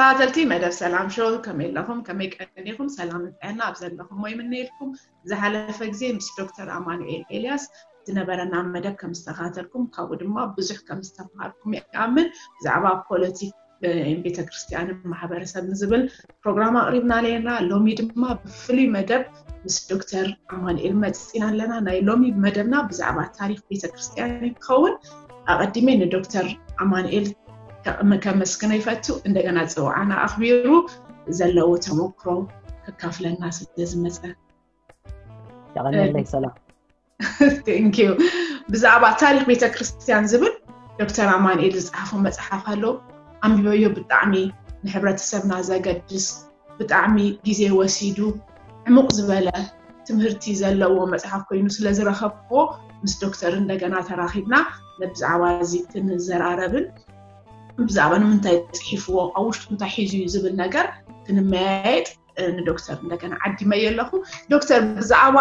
ተኸታተልቲ መደብ ሰላም ሾው፣ ከመይ ኣለኹም? ከመይ ቀኒኹም? ሰላምን ጥዕና ኣብ ዘለኹሞ ይምነየልኩም። ዝሓለፈ ግዜ ምስ ዶክተር ኣማኑኤል ኤልያስ ዝነበረና መደብ ከም ዝተኸታተልኩም፣ ካብኡ ድማ ብዙሕ ከም ዝተምሃርኩም ይኣምን። ብዛዕባ ፖለቲክ ቤተክርስትያንን ማሕበረሰብን ዝብል ፕሮግራም ኣቕሪብና ነርና። ሎሚ ድማ ብፍሉይ መደብ ምስ ዶክተር ኣማኑኤል መፂና ኣለና። ናይ ሎሚ መደብና ብዛዕባ ታሪክ ቤተክርስትያን ይኸውን። ኣቐዲመ ንዶክተር ኣማኑኤል ከ- ከመስግኖ ይፈቱ። እንደገና ፅውዓና ኣኽቢሩ ዘለዎ ተመክሮ ከካፍለና ስለ ዝመፀ። የቐንየለይ። ሰላም። Thank you። ብዛዕባ ታሪክ ቤተክርስትያን ዝብል ዶክተር ኣማኑኤል ዝፀሓፎ መፅሓፍ ኣሎ። ኣንቢበዮ። ብጣዕሚ ንሕብረተሰብና ዘገድስ፣ ብጣዕሚ ግዜ ወሲዱ ዕሙቕ ዝበለ ትምህርቲ ዘለዎ መፅሓፍ ኮይኑ ስለ ዝረኸብክዎ፣ ምስ ዶክተር እንደገና ተራኺብና ብዛዕባ እዚ ክንዘራረብን ብዛዕባ ንምንታይ ፅሒፍዎ፣ ኣብ ውሽጡ እንታይ ሒዙ እዩ ዝብል ነገር ክንመያየጥ ንዶክተር እንደገና ዓዲመዮ ኣለኹ። ዶክተር፣ ብዛዕባ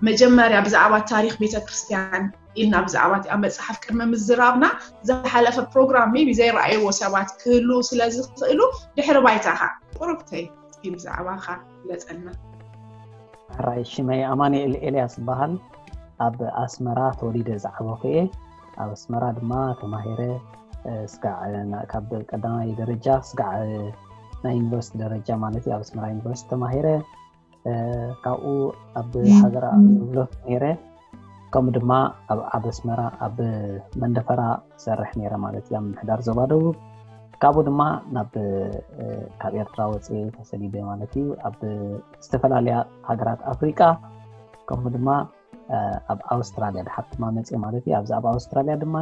መጀመርያ ብዛዕባ ታሪክ ቤተክርስትያን ኢልና ብዛዕባ እቲኣ መፅሓፍ ቅድሚ ምዝራብና፣ ዝሓለፈ ፕሮግራም maybe ዘይረኣይዎ ሰባት ክህልዉ ስለ ዝኽእሉ፣ ድሕሪ ባይታኻ ቁሩብተይ እስኪ ብዛዕባኻ ግለፀልና። ሕራይ፣ ሽመይ ኣማኑኤል ኤልያስ ይበሃል። ኣብ ኣስመራ ተወሊደ ዝዓበኹ እየ። ኣብ ኣስመራ ድማ ተማሂረ፣ እ፣ ስጋዕ፣ እ፣ ና- ካብ ቀዳማይ ደረጃ ስጋዕ፣ እ፣ ናይ ዩኒቨርሲቲ ደረጃ ማለት እዩ፣ ኣብ ኣስመራ ዩኒቨርሲቲ ተማሂረ። እ፣ ካብኡ ኣብ እም። ሃገር ኣገልግሎት ነይረ። ከምኡ ድማ ኣብ ኣብ ኣስመራ ኣብ መንደፈራ ሰርሕ ነይረ ማለት እዩ፣ ኣብ ምሕዳር ዞባ ደቡብ። ካብኡ ድማ ናብ፣ እ፣ ካብ ኤርትራ ወፅየ ተሰዲደ ማለት እዩ፣ ኣብ ዝተፈላለያ ሃገራት ኣፍሪቃ። ከምኡ ድማ፣ እ፣ ኣብ ኣውስትራልያ ድሓር ድማ መፅየ ማለት እዩ። ኣብዚ ኣብ ኣውስትራልያ ድማ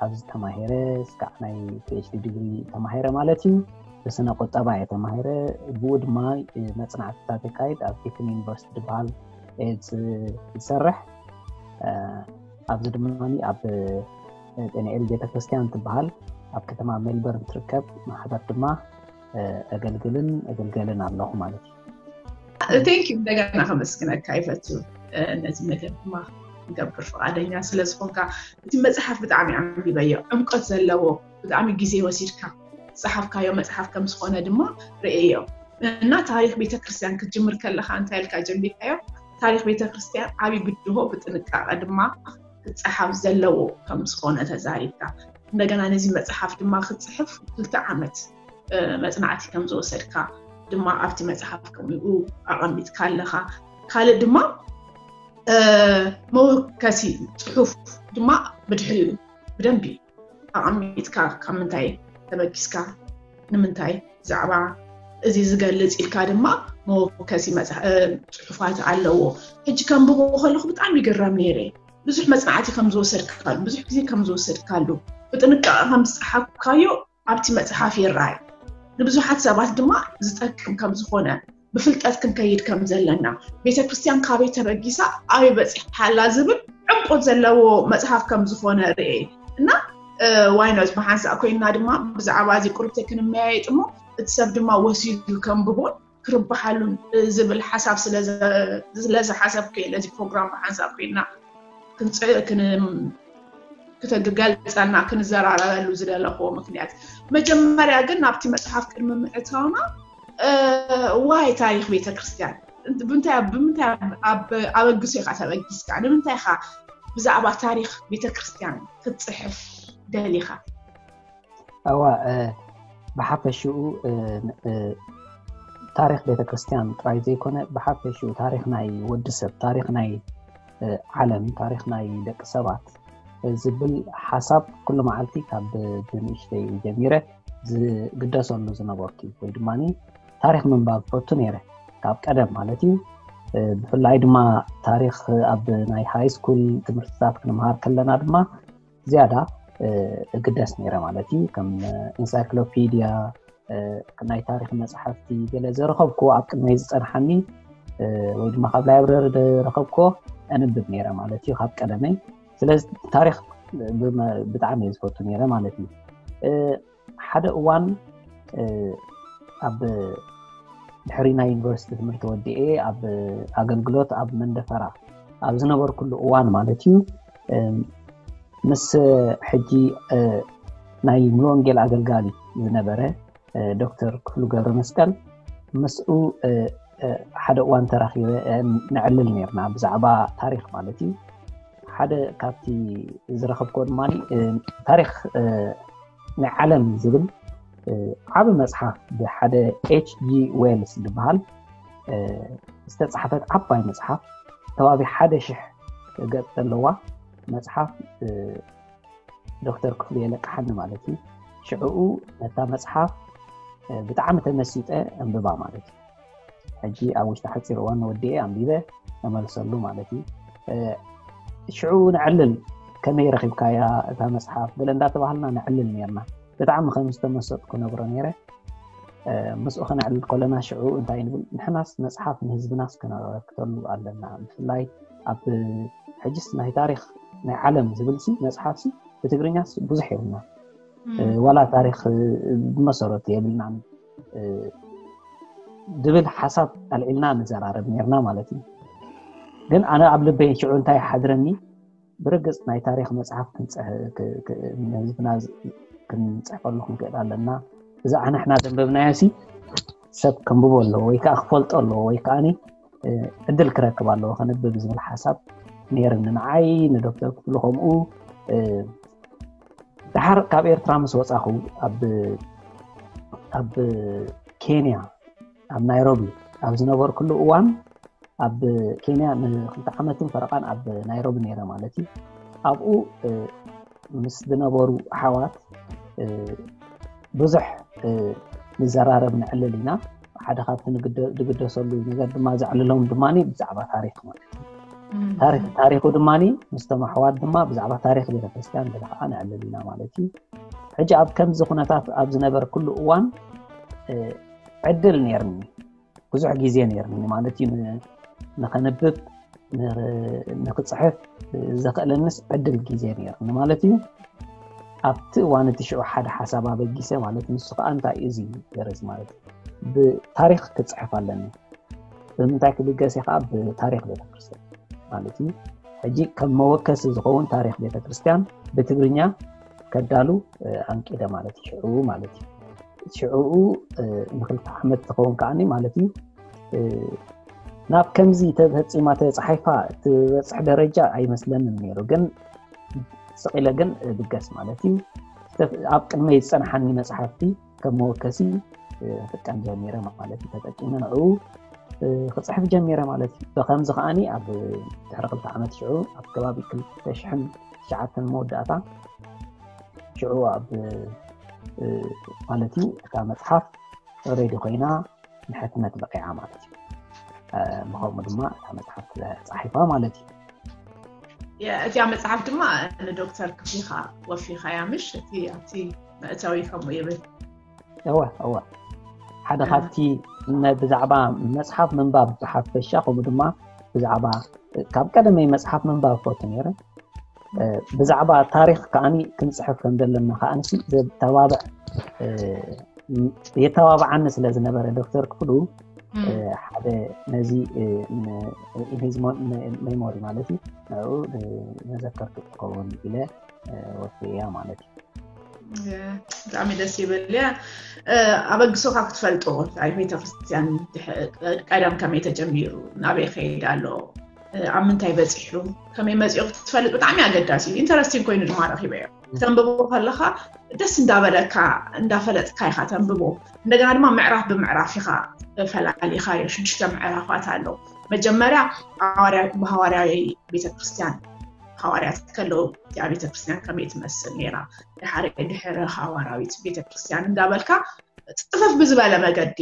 ኣብዚ ተማሂረ ስጋዕ ናይ ፒኤችዲ ዲግሪ ተማሂረ ማለት እዩ። ብስነ ቁጠባ እየ ተማሂረ። ብኡ ድማ መፅናዕትታት የካይድ ኣብ ጊፍን ዩኒቨርሲቲ ዝበሃል እየ ዝሰርሕ። ኣብዚ ድማ ኣብ ጤንኤል ቤተክርስትያን ትበሃል ኣብ ከተማ ሜልበርን ትርከብ ማሕበር ድማ እገልግልን እገልገልን ኣለኹ ማለት እዩ። Thank you። እንደገና ከመስግነካ ይፈቱ። ነዚ መደብ ድማ ንገብር ፍቓደኛ ስለ ዝኾንካ። እቲ መፅሓፍ ብጣዕሚ ኣንቢበዮ፣ ዕምቀት ዘለዎ፣ ብጣዕሚ ግዜ ወሲድካ ዝፀሓፍካዮ መፅሓፍ ከም ዝኾነ ድማ ርእየዮ። እና ታሪክ ቤተክርስትያን ክትጅምር ከለካ እንታይ ኢልካ ጀሚርካዮ? ታሪክ ቤተክርስትያን ዓብይ ብድሆ ብጥንቃቐ ድማ ክፀሓፍ ዘለዎ ከም ዝኾነ ተዛሪብካ። እንደገና ነዚ መፅሓፍ ድማ ክትፅሕፍ ክልተ ዓመት መፅናዕቲ ከም ዝወሰድካ ድማ ኣብቲ መፅሓፍ ከምኡ ኣቐሚጥካ ኣለኻ። ካልእ ድማ መወከሲ ፅሑፍ ድማ ብድሕሪኡ ብደንቢ ኣቐሚጥካ ካብ ምንታይ ተበጊስካ ንምንታይ ብዛዕባ እዚ ዝገልፅ ኢልካ ድማ መወከሲ መፅሓ- እ፣ ፅሑፋት ኣለዎ። ሕጂ ከንብቦ ከለኹ ብጣዕሚ ይግረም ነይረ። ብዙሕ መፅናዕቲ ከም ዝወሰድካሉ፣ ብዙሕ ግዜ ከም ዝወሰድካሉ፣ ብጥንቃቐ ከም ዝፀሓፍካዮ ኣብቲ መፅሓፍ ይረኣይ። ንብዙሓት ሰባት ድማ ዝጠቅም ከም ዝኾነ፣ ብፍልጠት ክንከይድ ከም ዘለና፣ ቤተክርስትያን ካበይ ተበጊሳ ኣበይ በፂሓ ኣላ ዝብል ዕምቆት ዘለዎ መፅሓፍ ከም ዝኾነ ርኤ እና ዋይኖት ብሓንሳእ ኮይንና ድማ ብዛዕባ እዚ ቁርብተ ክንመያየጥ እሞ እቲ ሰብ ድማ ወሲዱ ከንብቦን ክርብሓሉን ዝብል ሓሳብ ስለ ዝሓሰብኩ እየ ነዚ ፕሮግራም ብሓንሳብ ኮይና ክንፅዕ ክተገልፀልና ክንዘራረበሉ ዝደለኽዎ ምክንያት። መጀመርያ ግን ናብቲ መፅሓፍ ቅድሚ ምእታውና ዋይ ታሪክ ቤተክርስትያን ብምንታይ ብምንታይ ኣበግሶ ኢካ ተበጊስካ? ንምንታይ ኢካ ብዛዕባ ታሪክ ቤተክርስትያን ክትፅሕፍ ደሊካ? እዋ ብሓፈሽኡ ታሪክ ቤተክርስትያን ጥራይ ዘይኮነ ብሓፈሽኡ ታሪክ ናይ ወዲ ሰብ፣ ታሪክ ናይ ዓለም፣ ታሪክ ናይ ደቂ ሰባት ዝብል ሓሳብ ኩሉ መዓልቲ ካብ ብንእሽተይ ጀሚረ ዝግደሰሉ ዝነበርኩ ወይ ድማ ታሪክ ምንባብ ፈቱ ነይረ ካብ ቀደም ማለት እዩ። ብፍላይ ድማ ታሪክ ኣብ ናይ ሃይ ስኩል ትምህርትታት ክንምሃር ከለና ድማ ዝያዳ እግደስ ነይረ ማለት እዩ። ከም ኢንሳይክሎፒድያ ናይ ታሪክ መፅሓፍቲ ገለ ዘረኸብኩዎ ኣብ ቅድመይ ዝፀንሓኒ ወይ ድማ ካብ ላይብረሪ ዘረኸብኩዎ ኣንብብ ነይረ ማለት እዩ ካብ ቀደመይ። ስለዚ ታሪክ ብጣዕሚ እየ ዝፈቱ ነይረ ማለት እዩ። ሓደ እዋን ኣብ ድሕሪ ናይ ዩኒቨርሲቲ ትምህርቲ ወዲኤ ኣብ ኣገልግሎት ኣብ መንደፈራ ኣብ ዝነበርኩሉ እዋን ማለት እዩ ምስ ሕጂ ናይ ሙሉ ወንጌል ኣገልጋሊ ዝነበረ ዶክተር ክፍሉ ገብረ መስቀል ምስኡ ሓደ እዋን ተራኺበ። ነዕልል ነርና ብዛዕባ ታሪክ ማለት እዩ። ሓደ ካብቲ ዝረኸብኮ ድማ ታሪክ ናይ ዓለም ዝብል ዓብ መፅሓፍ ብሓደ ኤች ጂ ዌልስ ዝበሃል ዝተፃሓፈት ዓባይ መፅሓፍ ተባቢ ሓደ ሽሕ ገፅ ዘለዋ መፅሓፍ ዶክተር ክፍሉ የለቅሓኒ ማለት እዩ። ሽዕኡ ነታ መፅሓፍ ብጣዕሚ ተመሲጠ ኣንብባ ማለት እዩ። ሕጂ ኣብ ውሽጢ ሓፂር እዋን ወዲኤ ኣንቢበ ተመልሰሉ ማለት እዩ። ሽዑ ንዕልል ከመይ ረኺብካያ እታ መፅሓፍ ገለ እንዳተባሃልና ንዕልል ነርና። ብጣዕሚ ከም ዝተመሰጥኩ ነግሮ ነይረ። ምስኡ ከነዕልል ከለና ሽዑ እንታይ ንብል፣ ንሕናስ መፅሓፍ ንህዝብናስ ከነበርክተሉ ኣለና። ብፍላይ ኣብ ሕጅስ ናይ ታሪክ ናይ ዓለም ዝብል ሲ መፅሓፍ ሲ ብትግርኛስ ብዙሕ የብልና። ዋላ ታሪክ ብመሰረቱ የብልናን ድብል ሓሳብ ኣልዒልና ንዘራረብ ነርና ማለት እዩ። ግን ኣነ ኣብ ልበይ ሽዑ እንታይ ሓድረኒ፣ ብርግፅ ናይ ታሪክ መፅሓፍ ንህዝብና ክንፅሕፈሉ ክንክእል ኣለና። እዛ ኣነሕና ዘንበብናዮ ሲ ሰብ ከንብቦ ኣለዎ ወይ ከዓ ክፈልጦ ኣለዎ ወይ ከዓ ዕድል ክረክብ ኣለዎ ከንብብ ዝብል ሓሳብ ነይርኒ ንዓይ ንዶክተር ክፍሉ ከምኡ። ድሓር ካብ ኤርትራ ምስ ወፃኹ ኣብ ኬንያ ኣብ ናይሮቢ ኣብ ዝነበርኩሉ እዋን ኣብ ኬንያ ንክልተ ዓመትን ፈረቓን ኣብ ናይሮቢ ነይረ ማለት እዩ። ኣብኡ ምስ ዝነበሩ ኣሓዋት ብዙሕ ንዘራረብ ንዕልል ኢና። ሓደ ካብቲ ዝግደሰሉ ነገር ድማ ዘዕልሎም ድማ ብዛዕባ ታሪክ ማለት እዩ። ታሪኩ ድማ ምስቶም ኣሕዋት ድማ ብዛዕባ ታሪክ ቤተክርስትያን ገለ ከዓ ንዕልል ኢና ማለት እዩ። ሕጂ ኣብ ከምዚ ኩነታት ኣብ ዝነበርኩሉ እዋን ዕድል ነርኒ ብዙሕ ግዜ ነርኒ ማለት እዩ። ንኸንብብ ንክፅሕፍ ዘኽእለንስ ዕድል ግዜ ነርኒ ማለት እዩ። ኣብቲ እዋን እቲ ሽዑ ሓደ ሓሳብ ኣበጊሰ ማለት ንሱ ከዓ እንታይ እዩ እዚ ገረዝ ማለት እዩ ብታሪክ ክፅሕፍ ኣለኒ። ብምንታይ ክብገስ ከዓ ብታሪክ ቤተክርስትያን ማለት እዩ። ሕጂ ከም መወከሲ ዝኸውን ታሪክ ቤተክርስትያን ብትግርኛ ከዳሉ ኣንቂደ ማለት እዩ። ሽዑ ማለት እዩ ሽዑኡ ንክልተ ዓመት ዝኸውን ከዓኒ ማለት እዩ ናብ ከምዚ ተፈፂማ ተፃሒፋ ትበፅሕ ደረጃ ኣይመስለንን ነይሩ። ግን ስቕ ኢለ ግን ብገስ ማለት እዩ ኣብ ቅድመይ ዝፀንሓኒ መፅሓፍቲ ከም መወከሲ ክጥቀም ጀሚረ ማለት እዩ። ተጠቂመ ንዕኡ ክፅሕፍ ጀሚረ ማለት እዩ። ብከምዚ ከዓኒ ኣብ ድሕሪ ክልተ ዓመት ሽዑ ኣብ ከባቢ ክልተ ሽሕን ትሽዓተን መወዳእታ ሽዑ ኣብ ማለት እዩ እታ መፅሓፍ ሬዲ ኮይና ንሕትመት በቂዓ ማለት እዩ። ብከምኡ ድማ እታ መፅሓፍ ተፃሒፋ ማለት እዩ። እዚኣ መፅሓፍ ድማ ንዶክተር ክፍሊካ ወፊኻያ ምሽ እቲ ኣብቲ መእተዊ ከምኡ ይብል። እወ እወ ሓደ ካብቲ ብዛዕባ መፅሓፍ ምንባብ ብሓፈሻ ከምኡ ድማ ብዛዕባ ካብ ቀደመይ መፅሓፍ ምንባብ ፈቱ ነይረ። ብዛዕባ ታሪክ ከዓኒ ክንፅሕፍ ከም ዘለና ከዓንሲ ዘተባብዕ የተባብዓኒ ስለ ዝነበረ ዶክተር ክፍሉ ሓደ ነዚ ሜሞሪ ማለት እዩ ንኡ መዘከርቱ ክኸውን ኢለ ወፍያ ማለት እዩ። ብጣዕሚ ደስ ይብል እያ። ኣበግሶካ ክትፈልጦ ኣብ ቤተክርስትያን ቀደም ከመይ ተጀሚሩ ናበይ ከይድ ኣሎ ኣብ ምንታይ በፂሑ ከመይ መፂኦ ክትፈልጥ ብጣዕሚ ኣገዳሲ እዩ። ኢንተረስቲንግ ኮይኑ ድማ ረኪበዮ። ክተንብቦ ከለካ ደስ እንዳበለካ እንዳፈለጥካ ኢካ ተንብቦ። እንደገና ድማ ምዕራፍ ብምዕራፍ ኢካ ፈላሊካዮ። ሽዱሽተ ምዕራፋት ኣሎ። መጀመርያ ብሃዋርያዊ ቤተክርስትያን ሃዋርያት ከለዉ እቲኣ ቤተክርስትያን ከመይ ትመስል ነይራ፣ ድሓር ድሕሪ ሃዋርያዊት ቤተክርስትያን እንዳበልካ ፅፍፍ ብዝበለ መገዲ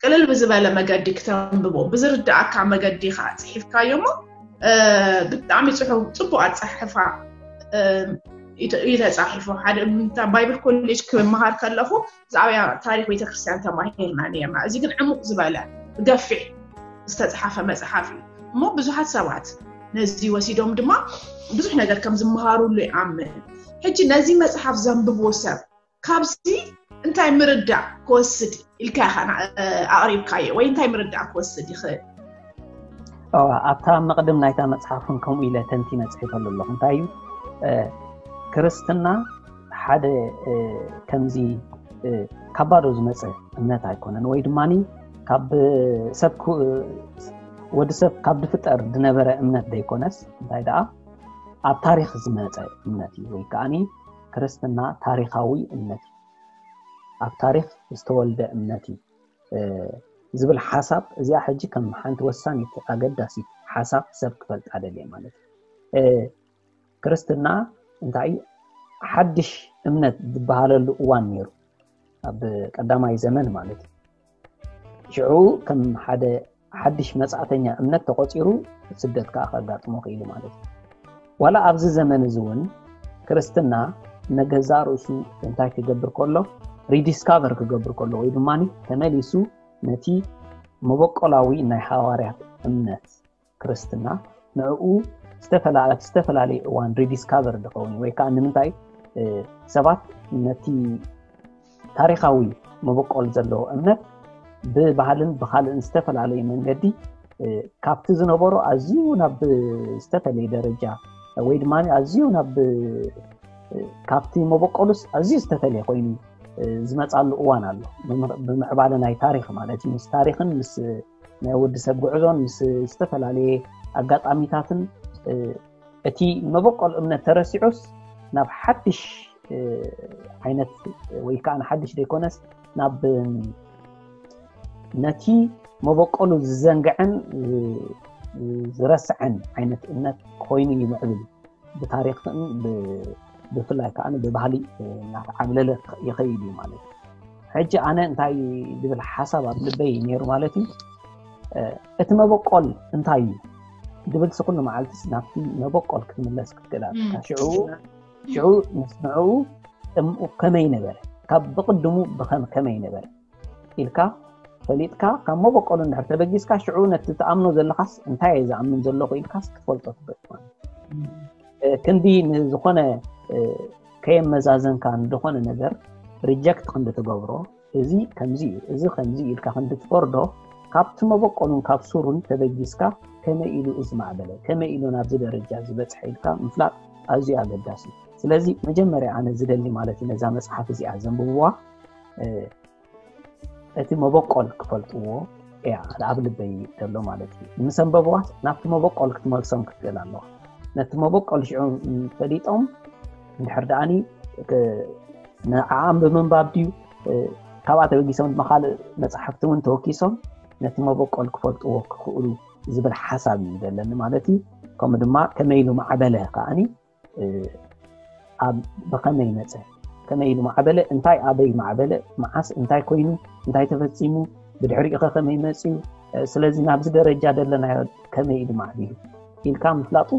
ቅልል ብዝበለ መገዲ ክተንብቦ ብዝርድኣካ መገዲ ከዓ ፅሒፍካዮ እሞ ብጣዕሚ ፅሑ ፅቡቅ ኣፀሕፋ እዩ ተፃሒፉ። ሓደ ባይብል ኮሌጅ ክመሃር ከለኹ ብዛዕባ ታሪክ ቤተክርስትያን ተማሂርና ነርና። እዚ ግን ዕሙቅ ዝበለ ብገፊሕ ዝተፅሓፈ መፅሓፍ እዩ እሞ ብዙሓት ሰባት ነዚ ወሲዶም ድማ ብዙሕ ነገር ከም ዝመሃሩሉ ይኣምን። ሕጂ ነዚ መፅሓፍ ዘንብቦ ሰብ ካብዚ እንታይ ምርዳእ ክወስድ ኢልካ ኢኻ ኣቕሪብካዮ ወይ እንታይ ምርዳእ ክወስድ ይኽእል? ኣብታ መቕድም ናይታ መፅሓፍ እውን ከምኡ ኢለ ተንቲነ ፅሒፈሉ ኣለኹ። እንታይ እዩ ክርስትና ሓደ ከምዚ ካብ ባዶ ዝመፀ እምነት ኣይኮነን፣ ወይ ድማ ካብ ሰብ ወዲ ሰብ ካብ ዝፍጠር ዝነበረ እምነት ዘይኮነስ፣ እንታይ ደኣ ኣብ ታሪክ ዝመፀ እምነት እዩ። ወይ ከዓኒ ክርስትና ታሪካዊ እምነት እዩ፣ ኣብ ታሪክ ዝተወልደ እምነት እዩ ዝብል ሓሳብ፣ እዚኣ ሕጂ ከም ሓንቲ ወሳኒት ኣገዳሲት ሓሳብ ሰብ ክፈልጣ ደልየ ማለት እዩ። ክርስትና እንታይ ሓድሽ እምነት ዝበሃለሉ እዋን ነይሩ፣ ኣብ ቀዳማይ ዘመን ማለት እዩ። ሽዑ ከም ሓደ ሓድሽ መጻእተኛ እምነት ተቆጺሩ፣ ስደት ከዓ ከጋጥሞ ክኢሉ ማለት እዩ። ዋላ ኣብዚ ዘመን እዚ እውን ክርስትና ንገዛእ ርእሱ እንታይ ክገብር ከሎ፣ ሪዲስካቨር ክገብር ከሎ፣ ወይ ድማ ተመሊሱ ነቲ መበቆላዊ ናይ ሃዋርያት እምነት ክርስትና ንዕኡ ዝተፈላለየ እዋን ሪዲስካቨር ዝኸውን፣ ወይ ከዓ ንምንታይ ሰባት ነቲ ታሪካዊ መበቆል ዘለዎ እምነት ብባህልን ብካልእን ዝተፈላለየ መንገዲ ካብቲ ዝነበሮ ኣዝዩ ናብ ዝተፈለየ ደረጃ፣ ወይ ድማ ኣዝዩ ናብ ካብቲ መበቆሉስ ኣዝዩ ዝተፈለየ ኮይኑ ዝመፃሉ እዋን ኣሎ። ብምዕባለ ናይ ታሪክ ማለት እዩ፣ ምስ ታሪክን ምስ ናይ ወዲ ሰብ ጉዕዞን ምስ ዝተፈላለየ ኣጋጣሚታትን እቲ መበቆል እምነት ተረሲዑስ ናብ ሓድሽ ዓይነት፣ ወይ ከዓ ንሓድሽ ዘይኮነስ ናብ ነቲ መበቆሉ ዝዘንግዐን ዝረስዐን ዓይነት እምነት ኮይኑ ይምዕብል። ብታሪክን ብፍላይ ከዓ ብባህሊ እናተዓብለለ ይኸይድ እዩ ማለት እዩ። ሕጂ ኣነ እንታይ ዝብል ሓሳብ ኣብ ልበይ ነይሩ ማለት እዩ፣ እቲ መበቆል እንታይ እዩ ዝብል ስኩሉ መዓልቲ ናብቲ መበቆል ክትምለስ ክትክእል ኣለካ። ሽዑ ሽዑ ምስ ንዕኡ ጥምኡ ከመይ ነበረ፣ ካብ ብቅድሙ ብኸም ከመይ ነበረ ኢልካ ፈሊጥካ ካብ መበቆሉ እንድሕር ተበጊስካ፣ ሽዑ ነቲ ትኣምኖ ዘለኻስ እንታይ እየ ዝኣምን ዘለኹ ኢልካስ ክትፈልጦ ትበት ማለት። ክንዲ ንዝኾነ ከየመዛዘንካ ንዝኾነ ነገር ሪጀክት ክንዲ ትገብሮ፣ እዚ ከምዚ እዩ፣ እዚ ከምዚ እዩ ኢልካ ክንዲ ትፈርዶ፣ ካብቲ መበቆሉን ካብ ሱሩን ተበጊስካ ከመይ ኢሉ እዚ ማዕበለ፣ ከመይ ኢሉ ናብዚ ደረጃ ዝበፅሐ ኢልካ ምፍላጥ ኣዝዩ ኣገዳሲ እዩ። ስለዚ መጀመርያ ኣነ ዝደሊ ማለት እዩ፣ ነዛ መፅሓፍ እዚኣ ዘንብብዋ እቲ መበቆል ክፈልጥዎ እያ ኣብ ልበይ ዘሎ ማለት እዩ። ምስ ኣንበብዋ ናብቲ መበቆል ክትመልሶም ክትክእል ኣለዋ። ነቲ መበቆል ሽዑ ፈሊጦም እንድሕር ደኣኒ ንዓኣም ብምንባብ ድዩ፣ ካብኣ ተበጊሶም ድማ ካልእ መፅሓፍቲ እውን ተወኪሶም ነቲ መበቆል ክፈልጥዎ ክኽእሉ ዝብል ሓሳብ እዩ ዘለኒ ማለት እዩ። ከምኡ ድማ ከመይ ኢሉ ማዕበለ ከዓኒ ኣብ ብኸመይ መፀ፣ ከመይ ኢሉ ማዕበለ፣ እንታይ ኣበይ ማዕበለ፣ መዓስ እንታይ ኮይኑ፣ እንታይ ተፈፂሙ፣ ብድሕሪኡ ኸ ከመይ መፅዩ፣ ስለዚ ናብዚ ደረጃ ደለናዮ ከመይ ኢሉ ማዕቢሉ ኢልካ ምፍላጡ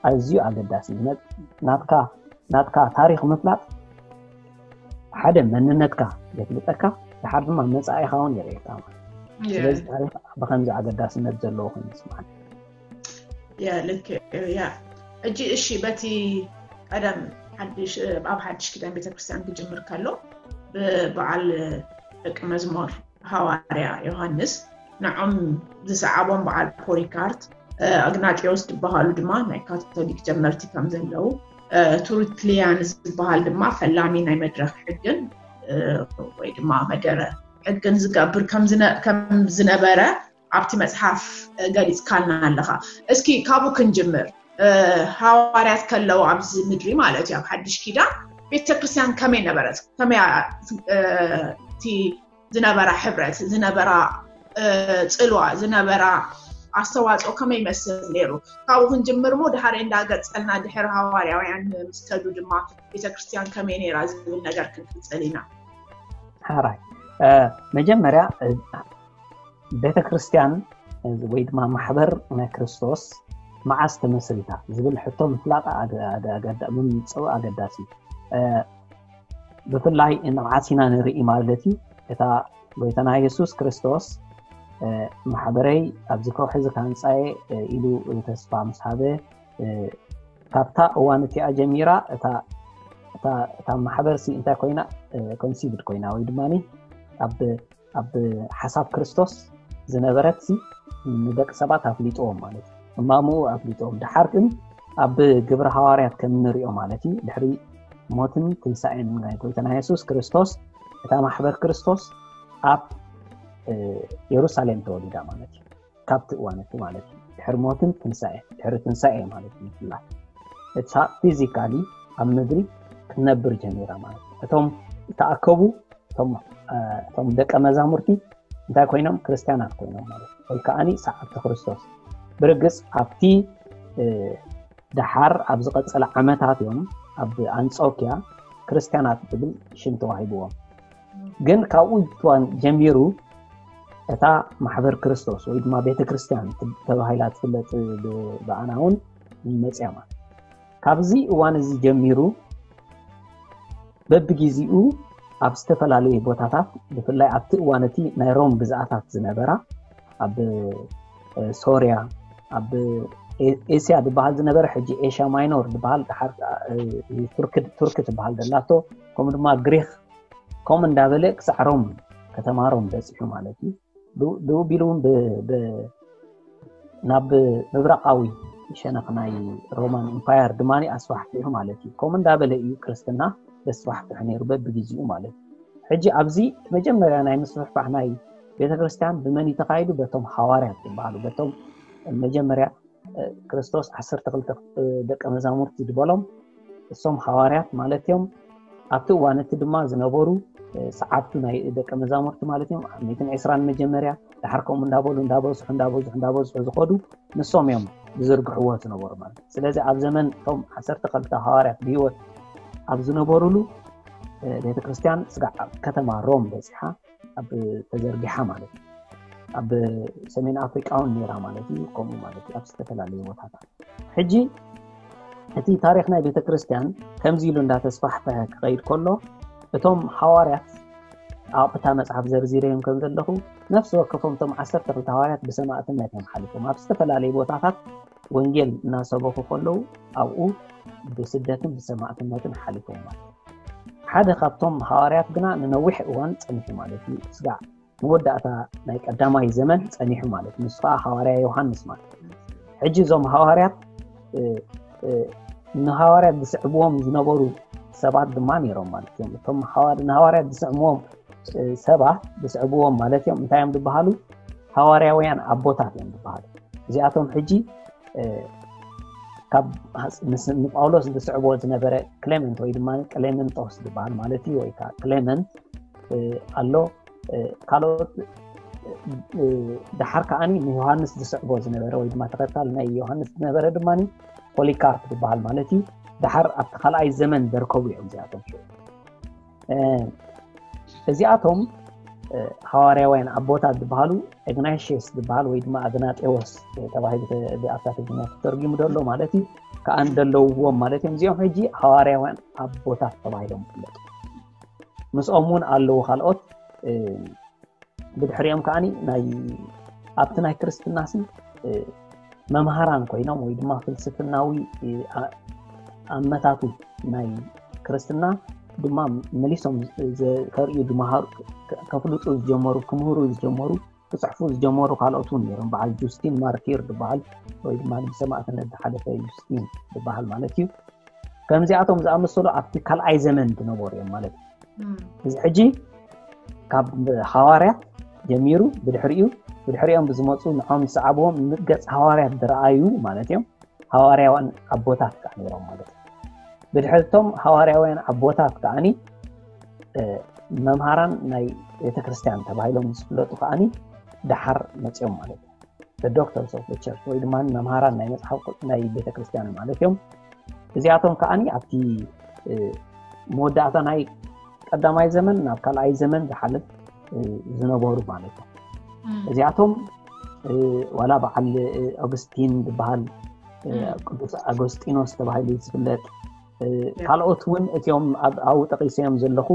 ኣዝዩ ኣገዳሲ እዩ። ናትካ ናትካ ታሪክ ምፍላጥ ሓደ መንነትካ የፍልጠካ፣ ድሓር ድማ መፃኢኻ እውን የርእየካ ማለት እዩ። ስለዚ ታሪክ ብከምዚ ኣገዳስነት ዘለዎ ኮይኑ ይስማዓኒ። ያ ልክ ያ። እጂ እሺ፣ በቲ ቀደም ሓድሽ ኣብ ሓድሽ ኪዳን ቤተክርስትያን ክጅምር ከሎ ብበዓል ደቂ መዝሙር ሃዋርያ ዮሃንስ ንዖም ዝሰዓቦም በዓል ፖሊካርት፣ ኣግናጢዮስ ዝበሃሉ ድማ ናይ ካቶሊክ ጀመርቲ ከም ዘለዉ፣ ቱርትሊያን ዝበሃል ድማ ፈላሚ ናይ መድረክ ሕግን ወይ ድማ መደረ ሕግን ዝገብር ከም ዝነበረ ኣብቲ መፅሓፍ ገሊፅካልና ኣለኻ። እስኪ ካብኡ ክንጅምር። ሃዋርያት ከለዉ ኣብዚ ምድሪ ማለት እዩ፣ ኣብ ሓድሽ ኪዳን ቤተክርስትያን ከመይ ነበረት? ከመይ እቲ ዝነበራ ሕብረት፣ ዝነበራ ፅልዋ፣ ዝነበራ ኣስተዋፅኦ ከመይ ይመስል ነይሩ? ካብኡ ክንጅምር ሞ ድሓር እንዳገፀልና ድሕሪ ሃዋርያውያን ምስ ከዱ ድማ ቤተክርስትያን ከመይ ነይራ ዝብል ነገር ክንቅፅል ኢና። ሓራይ መጀመርያ ቤተክርስትያን ወይ ድማ ማሕበር ናይ ክርስቶስ መዓስ ተመስሪታ ዝብል ሕቶ ምፍላጥ ምምፅኡ ኣገዳሲ። ብፍላይ ንብዓት ኢና ንርኢ ማለት እዩ። እታ ጎይታና የሱስ ክርስቶስ ማሕበረይ ኣብዚ ከውሒ እዚ ካንፃየ ኢሉ ተስፋ ምስ ሃበ፣ ካብታ እዋን እቲኣ ጀሚራ እታ ማሕበር ሲ እንታይ ኮይና፣ ኮንሲቭድ ኮይና ወይ ድማ ኣብ ኣብ ሓሳብ ክርስቶስ ዝነበረት ሲ ንደቂ ሰባት ኣፍሊጥዎም ማለት እዩ። እማምኡ ኣፍሊጥዎም። ድሓር ግን ኣብ ግብሪ ሃዋርያት ከም እንሪኦ ማለት እዩ፣ ድሕሪ ሞትን ትንሳኤን ናይ ጎይታና የሱስ ክርስቶስ እታ ማሕበር ክርስቶስ ኣብ የሩሳሌም ተወሊዳ ማለት እዩ። ካብቲ እዋን እቲ ማለት እዩ ድሕሪ ሞትን ትንሳኤ ድሕሪ ትንሳኤ ማለት እዩ። ብፍላይ እታ ፊዚካሊ ኣብ ምድሪ ክትነብር ጀሚራ ማለት እዩ። እቶም ዝተኣከቡ እቶም ደቀ መዛሙርቲ እንታይ ኮይኖም? ክርስትያናት ኮይኖም ማለት እዩ። ወይ ከዓኒ ሰዓብቲ ክርስቶስ። ብርግፅ ኣብቲ ደሓር ኣብ ዝቐፀለ ዓመታት እዮም ኣብ ኣንጾኪያ ክርስትያናት ዝብል ሽም ተዋሂብዎም። ግን ካብኡ እዋን ጀሚሩ እታ ማሕበር ክርስቶስ ወይ ድማ ቤተ ክርስትያን ተባሂላ ትፍለጥ ብኣና እውን መፅያ ማለት። ካብዚ እዋን እዚ ጀሚሩ በብግዜኡ ኣብ ዝተፈላለዩ ቦታታት፣ ብፍላይ ኣብቲ እዋን እቲ ናይ ሮም ግዝኣታት ዝነበራ ኣብ ሶርያ፣ ኣብ ኤስያ ዝበሃል ዝነበረ ሕጂ ኤሽያ ማይኖር ዝበሃል፣ ቱርክ ትበሃል ዘላቶ፣ ከምኡ ድማ ግሪክ፣ ከምኡ እንዳበለ ክሳዕ ሮም፣ ከተማ ሮም በፂሑ ማለት እዩ። ብኡ ቢሉ እውን ናብ ምብራቃዊ ሸነኽ ናይ ሮማን ኢምፓየር ድማ ኣስፋሕፊሑ ማለት እዩ። ከምኡ እንዳበለ እዩ ክርስትና ዘስፋሕፍሕ ነይሩ በብግዜኡ ማለት እዩ። ሕጂ ኣብዚ መጀመርያ ናይ ምስፍሕፋሕ ናይ ቤተክርስትያን ብመን እዩ ተኻይዱ? በቶም ሃዋርያት ዝበሃሉ፣ በቶም መጀመርያ ክርስቶስ ዓሰርተ ክልተ ደቀ መዛሙርቲ ዝበሎም እሶም ሃዋርያት ማለት እዮም። ኣብቲ እዋን እቲ ድማ ዝነበሩ ሰዓብቱ ናይ ደቀ መዛሙርቲ ማለት እዮም። ሚእትን ዕስራን መጀመርያ፣ ድሓር ከምኡ እንዳበሉ እንዳበዝሑ እንዳበዝሑ እንዳበዝሑ ዝኸዱ ንሶም እዮም ዝዝርግሕዎ ዝነበሩ ማለት እዩ። ስለዚ ኣብ ዘመን እቶም ዓሰርተ ክልተ ሃዋርያት ብህይወት ኣብ ዝነበሩሉ ቤተክርስትያን ስጋዕ ኣብ ከተማ ሮም በፂሓ ኣብ ተዘርጊሓ ማለት እዩ። ኣብ ሰሜን ኣፍሪቃ እውን ነይራ ማለት እዩ። ከምኡ ማለት እዩ ኣብ ዝተፈላለዩ ቦታታት። ሕጂ እቲ ታሪኽ ናይ ቤተ ክርስቲያን ከምዚ ኢሉ እንዳተስፋሕፈሐ ክኸይድ ከሎ እቶም ሃዋርያት ኣብታ መጽሓፍ ዘርዚረዮም ከም ዘለኹ ነፍሲ ወከፎም እቶም ዓሰርተ ክልተ ሃዋርያት ብሰማእትነት እዮም ሓሊፎም ኣብ ዝተፈላለዩ ቦታታት ወንጌል እናሰበኹ ከለዉ ኣብኡ ብስደትን ብሰማእትነትን ሓሊፎም ማለት ሓደ ካብቶም ሃዋርያት ግና ንነዊሕ እዋን ጸኒሑ ማለት እዩ። ስጋዕ መወዳእታ ናይ ቀዳማይ ዘመን ጸኒሑ ማለት ንሱ ከዓ ሃዋርያ ዮሃንስ ማለት ሕጂ እዞም ሃዋርያት ንሃዋርያት ዝስዕብዎም ዝነበሩ ሰባት ድማ ነይሮም ማለት እዮም። እቶም ንሃዋርያት ዝስዕብዎም ሰባት ዝስዕብዎም ማለት እዮም እንታይ እዮም ዝበሃሉ? ሃዋርያውያን ኣቦታት እዮም ዝበሃሉ። እዚኣቶም ሕጂ ካብ ንጳውሎስ ዝስዕቦ ዝነበረ ክሌመንት ወይ ድማ ክሌመንጦስ ዝበሃል ማለት እዩ። ወይ ከዓ ክሌመንት ኣሎ። ካልኦት ድሓር ከዓኒ ንዮሃንስ ዝስዕቦ ዝነበረ ወይ ድማ ተኸታል ናይ ዮሃንስ ዝነበረ ድማ ፖሊካርፕ ዝበሃል ማለት እዩ። ድሓር ኣብቲ ካልኣይ ዘመን ዘርከቡ እዮም እዚኣቶም። እዚኣቶም ሃዋርያውያን ኣቦታት ዝበሃሉ ኢግናሽየስ ዝበሃል ወይ ድማ ኣግናጤዎስ ተባሂሉ ብኣታ ትግርኛ ተተርጊሙ ዘሎ ማለት እዩ። ከኣ እንደለውዎም ማለት እዮም። እዚኦም ሕጂ ሃዋርያውያን ኣቦታት ተባሂሎም ይፍለጡ። ምስኦም እውን ኣለዉ ካልኦት ብድሕሪኦም ከዓኒ ናይ ኣብቲ ናይ ክርስትናሲ መምሃራን ኮይኖም ወይ ድማ ፍልስፍናዊ ኣመታቱ ናይ ክርስትና ድማ መሊሶም ከርእዩ ዝመሃሩ ከፍልጡ ዝጀመሩ ክምህሩ ዝጀመሩ ክፅሕፉ ዝጀመሩ ካልኦት እውን ነይሮም። በዓል ጁስቲን ማርቲር ዝበሃል ወይ ድማ ብሰማእትነት ዝሓለፈ ጁስቲን ዝበሃል ማለት እዩ። ከምዚኣቶም ዝኣመሰሉ ኣብቲ ካልኣይ ዘመን ዝነበሩ እዮም ማለት እዩ። እዚ ሕጂ ካብ ሃዋርያት ጀሚሩ ብድሕሪኡ ብድሕሪኦም ብዝመፁ ንዖም ዝሰዓብዎም ምገፅ ሃዋርያት ዝረኣዩ ማለት እዮም። ሃዋርያውያን ኣቦታት ከዓ ነይሮም ማለት እዩ። ብድሕርቶም ሃዋርያውያን ኣቦታት ከዓኒ መምሃራን ናይ ቤተክርስትያን ተባሂሎም ዝፍለጡ ከዓኒ ደሓር መፅኦም ማለት እዩ። ዶክተርስ ኦፍ ቸርች ወይ ድማ መምሃራን ናይ መፅሓፍ ናይ ቤተክርስትያን ማለት እዮም። እዚኣቶም ከዓኒ ኣብቲ መወዳእታ ናይ ቀዳማይ ዘመን ናብ ካልኣይ ዘመን ዝሓልፍ ዝነበሩ ማለት እዮም። እዚኣቶም ዋላ በዓል ኦግስቲን ዝበሃል ቅዱስ ኣጎስጢኖስ ተባሂሉ ዝፍለጥ ካልኦት እውን እቲኦም ኣብኡ ጠቂሰዮም ዘለኹ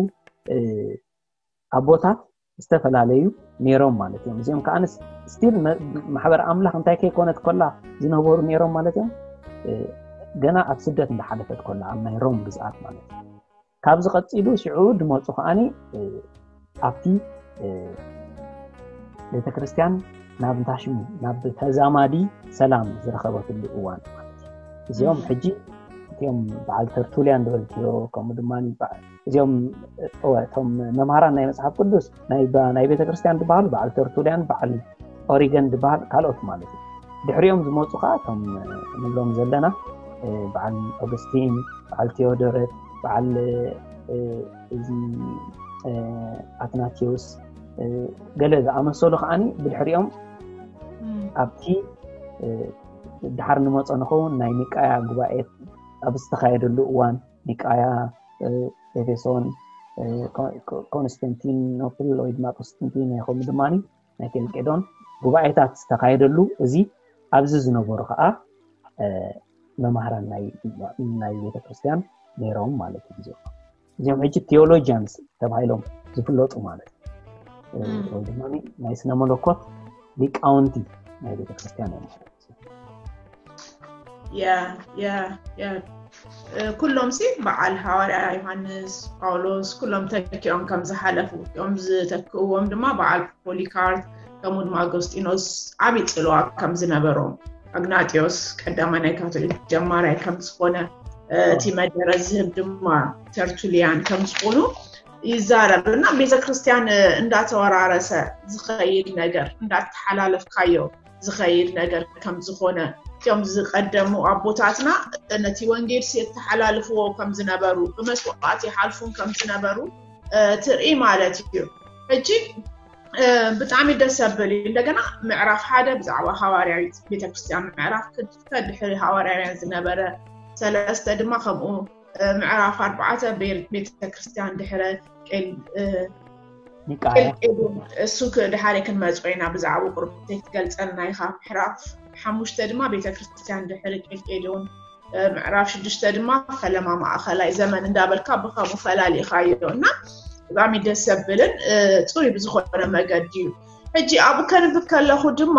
ኣቦታት ዝተፈላለዩ ነይሮም ማለት እዮም። እዚኦም ከዓ ስቲል ማሕበር ኣምላኽ እንታይ ከይኮነት ኮላ ዝነበሩ ነይሮም ማለት እዮም። ገና ኣብ ስደት እንዳሓለፈት ኮላ ኣብ ናይ ሮም ግዝኣት ማለት እዩ። ካብዚ ቀፂሉ ሽዑ ድመፁ ከዓኒ ኣብቲ ቤተክርስትያን ናብ እንታሽሙ ናብ ተዛማዲ ሰላም ዝረኸበትሉ እዋን ማለት እዩ። እዚኦም ሕጂ እቲኦም በዓል ተርቱልያን ዝበልክዮ ከምኡ ድማ እዚኦም እቶም መምሃራን ናይ መፅሓፍ ቅዱስ ናይ ቤተክርስትያን ዝበሃሉ በዓል ተርቱልያን በዓል ኦሪገን ዝበሃል ካልኦት ማለት እዩ። ድሕሪኦም ዝመፁ ከዓ እቶም ንብሎም ዘለና በዓል ኦገስቲን፣ በዓል ቴዎዶረት፣ በዓል እዚ ኣትናቴዎስ ገለ ዝኣመሰሉ ከዓኒ ብድሕሪኦም ኣብቲ ድሓር ንመፆ ንኸውን ናይ ኒቃያ ጉባኤ ኣብ ዝተኻየደሉ እዋን ኒቃያ፣ ኤፌሶን፣ ኮንስታንቲኖፕል ወይ ድማ ቁስጥንጢንያ ከምኡ ድማ ናይ ኬልቄዶን ጉባኤታት ዝተኻየደሉ እዚ ኣብዚ ዝነበሩ ከዓ መማህራን ናይ ቤተክርስትያን ነይሮም ማለት እዩ። እዚኦም ሕጂ ቴዎሎጂያንስ ተባሂሎም ዝፍለጡ ማለት ወይ ድማ ናይ ስነ መለኮት ሊቃውንቲ ናይ ቤተክርስትያን እዮም ማለት እዩ። ኩሎም ሲ በዓል ሃዋርያ ዮሃንስ፣ ጳውሎስ ኩሎም ተኪኦም ከም ዝሓለፉ እዮም። ዝተክእዎም ድማ በዓል ፖሊካርፕ ከምኡ ድማ ኣጎስጢኖስ ዓብዪ ፅልዋ ከም ዝነበሮም፣ ኣግናጢዮስ ቀዳማይ ናይ ካቶሊክ ጀማራይ ከም ዝኾነ እቲ መደረ ዝህብ ድማ ተርቱሊያን ከም ዝኾኑ ይዛረብ እና ቤተክርስትያን እንዳተወራረሰ ዝኸይድ ነገር እንዳተሓላለፍካዮ ዝኸይድ ነገር ከም ዝኾነ እቶም ዝቀደሙ ኣቦታትና ነቲ ወንጌል የተሓላልፍዎ ከም ዝነበሩ ብመስዋዕት ይሓልፉን ከም ዝነበሩ ትርኢ ማለት እዩ። ሕጂ ብጣዕሚ ደስ ዘብል እዩ። እንደገና ምዕራፍ ሓደ ብዛዕባ ሃዋርያዊት ቤተክርስትያን፣ ምዕራፍ ክልተ ድሕሪ ሃዋርያውያን ዝነበረ፣ ሰለስተ ድማ ከምኡ፣ ምዕራፍ ኣርባዕተ ቤተክርስትያን ድሕረ ቄልቄዶን እሱ ድሓረ ክንመፅኦ ኢና። ብዛዕባ ቁርብ ክትገልፀልና ኢኻ። ምዕራፍ ሓሙሽተ ድማ ቤተክርስትያን ድሕሪ ቄልቄዶን፣ ምዕራፍ ሽዱሽተ ድማ ፈለማ ማእኸላይ ዘመን እንዳበልካ ብኸምኡ ፈላሊኻዮ እና ብጣዕሚ ደስ ዘብልን ፅሩይ ብዝኾነ መገዲ እዩ። ሕጂ ኣብኡ ከንብብ ከለኹ ድማ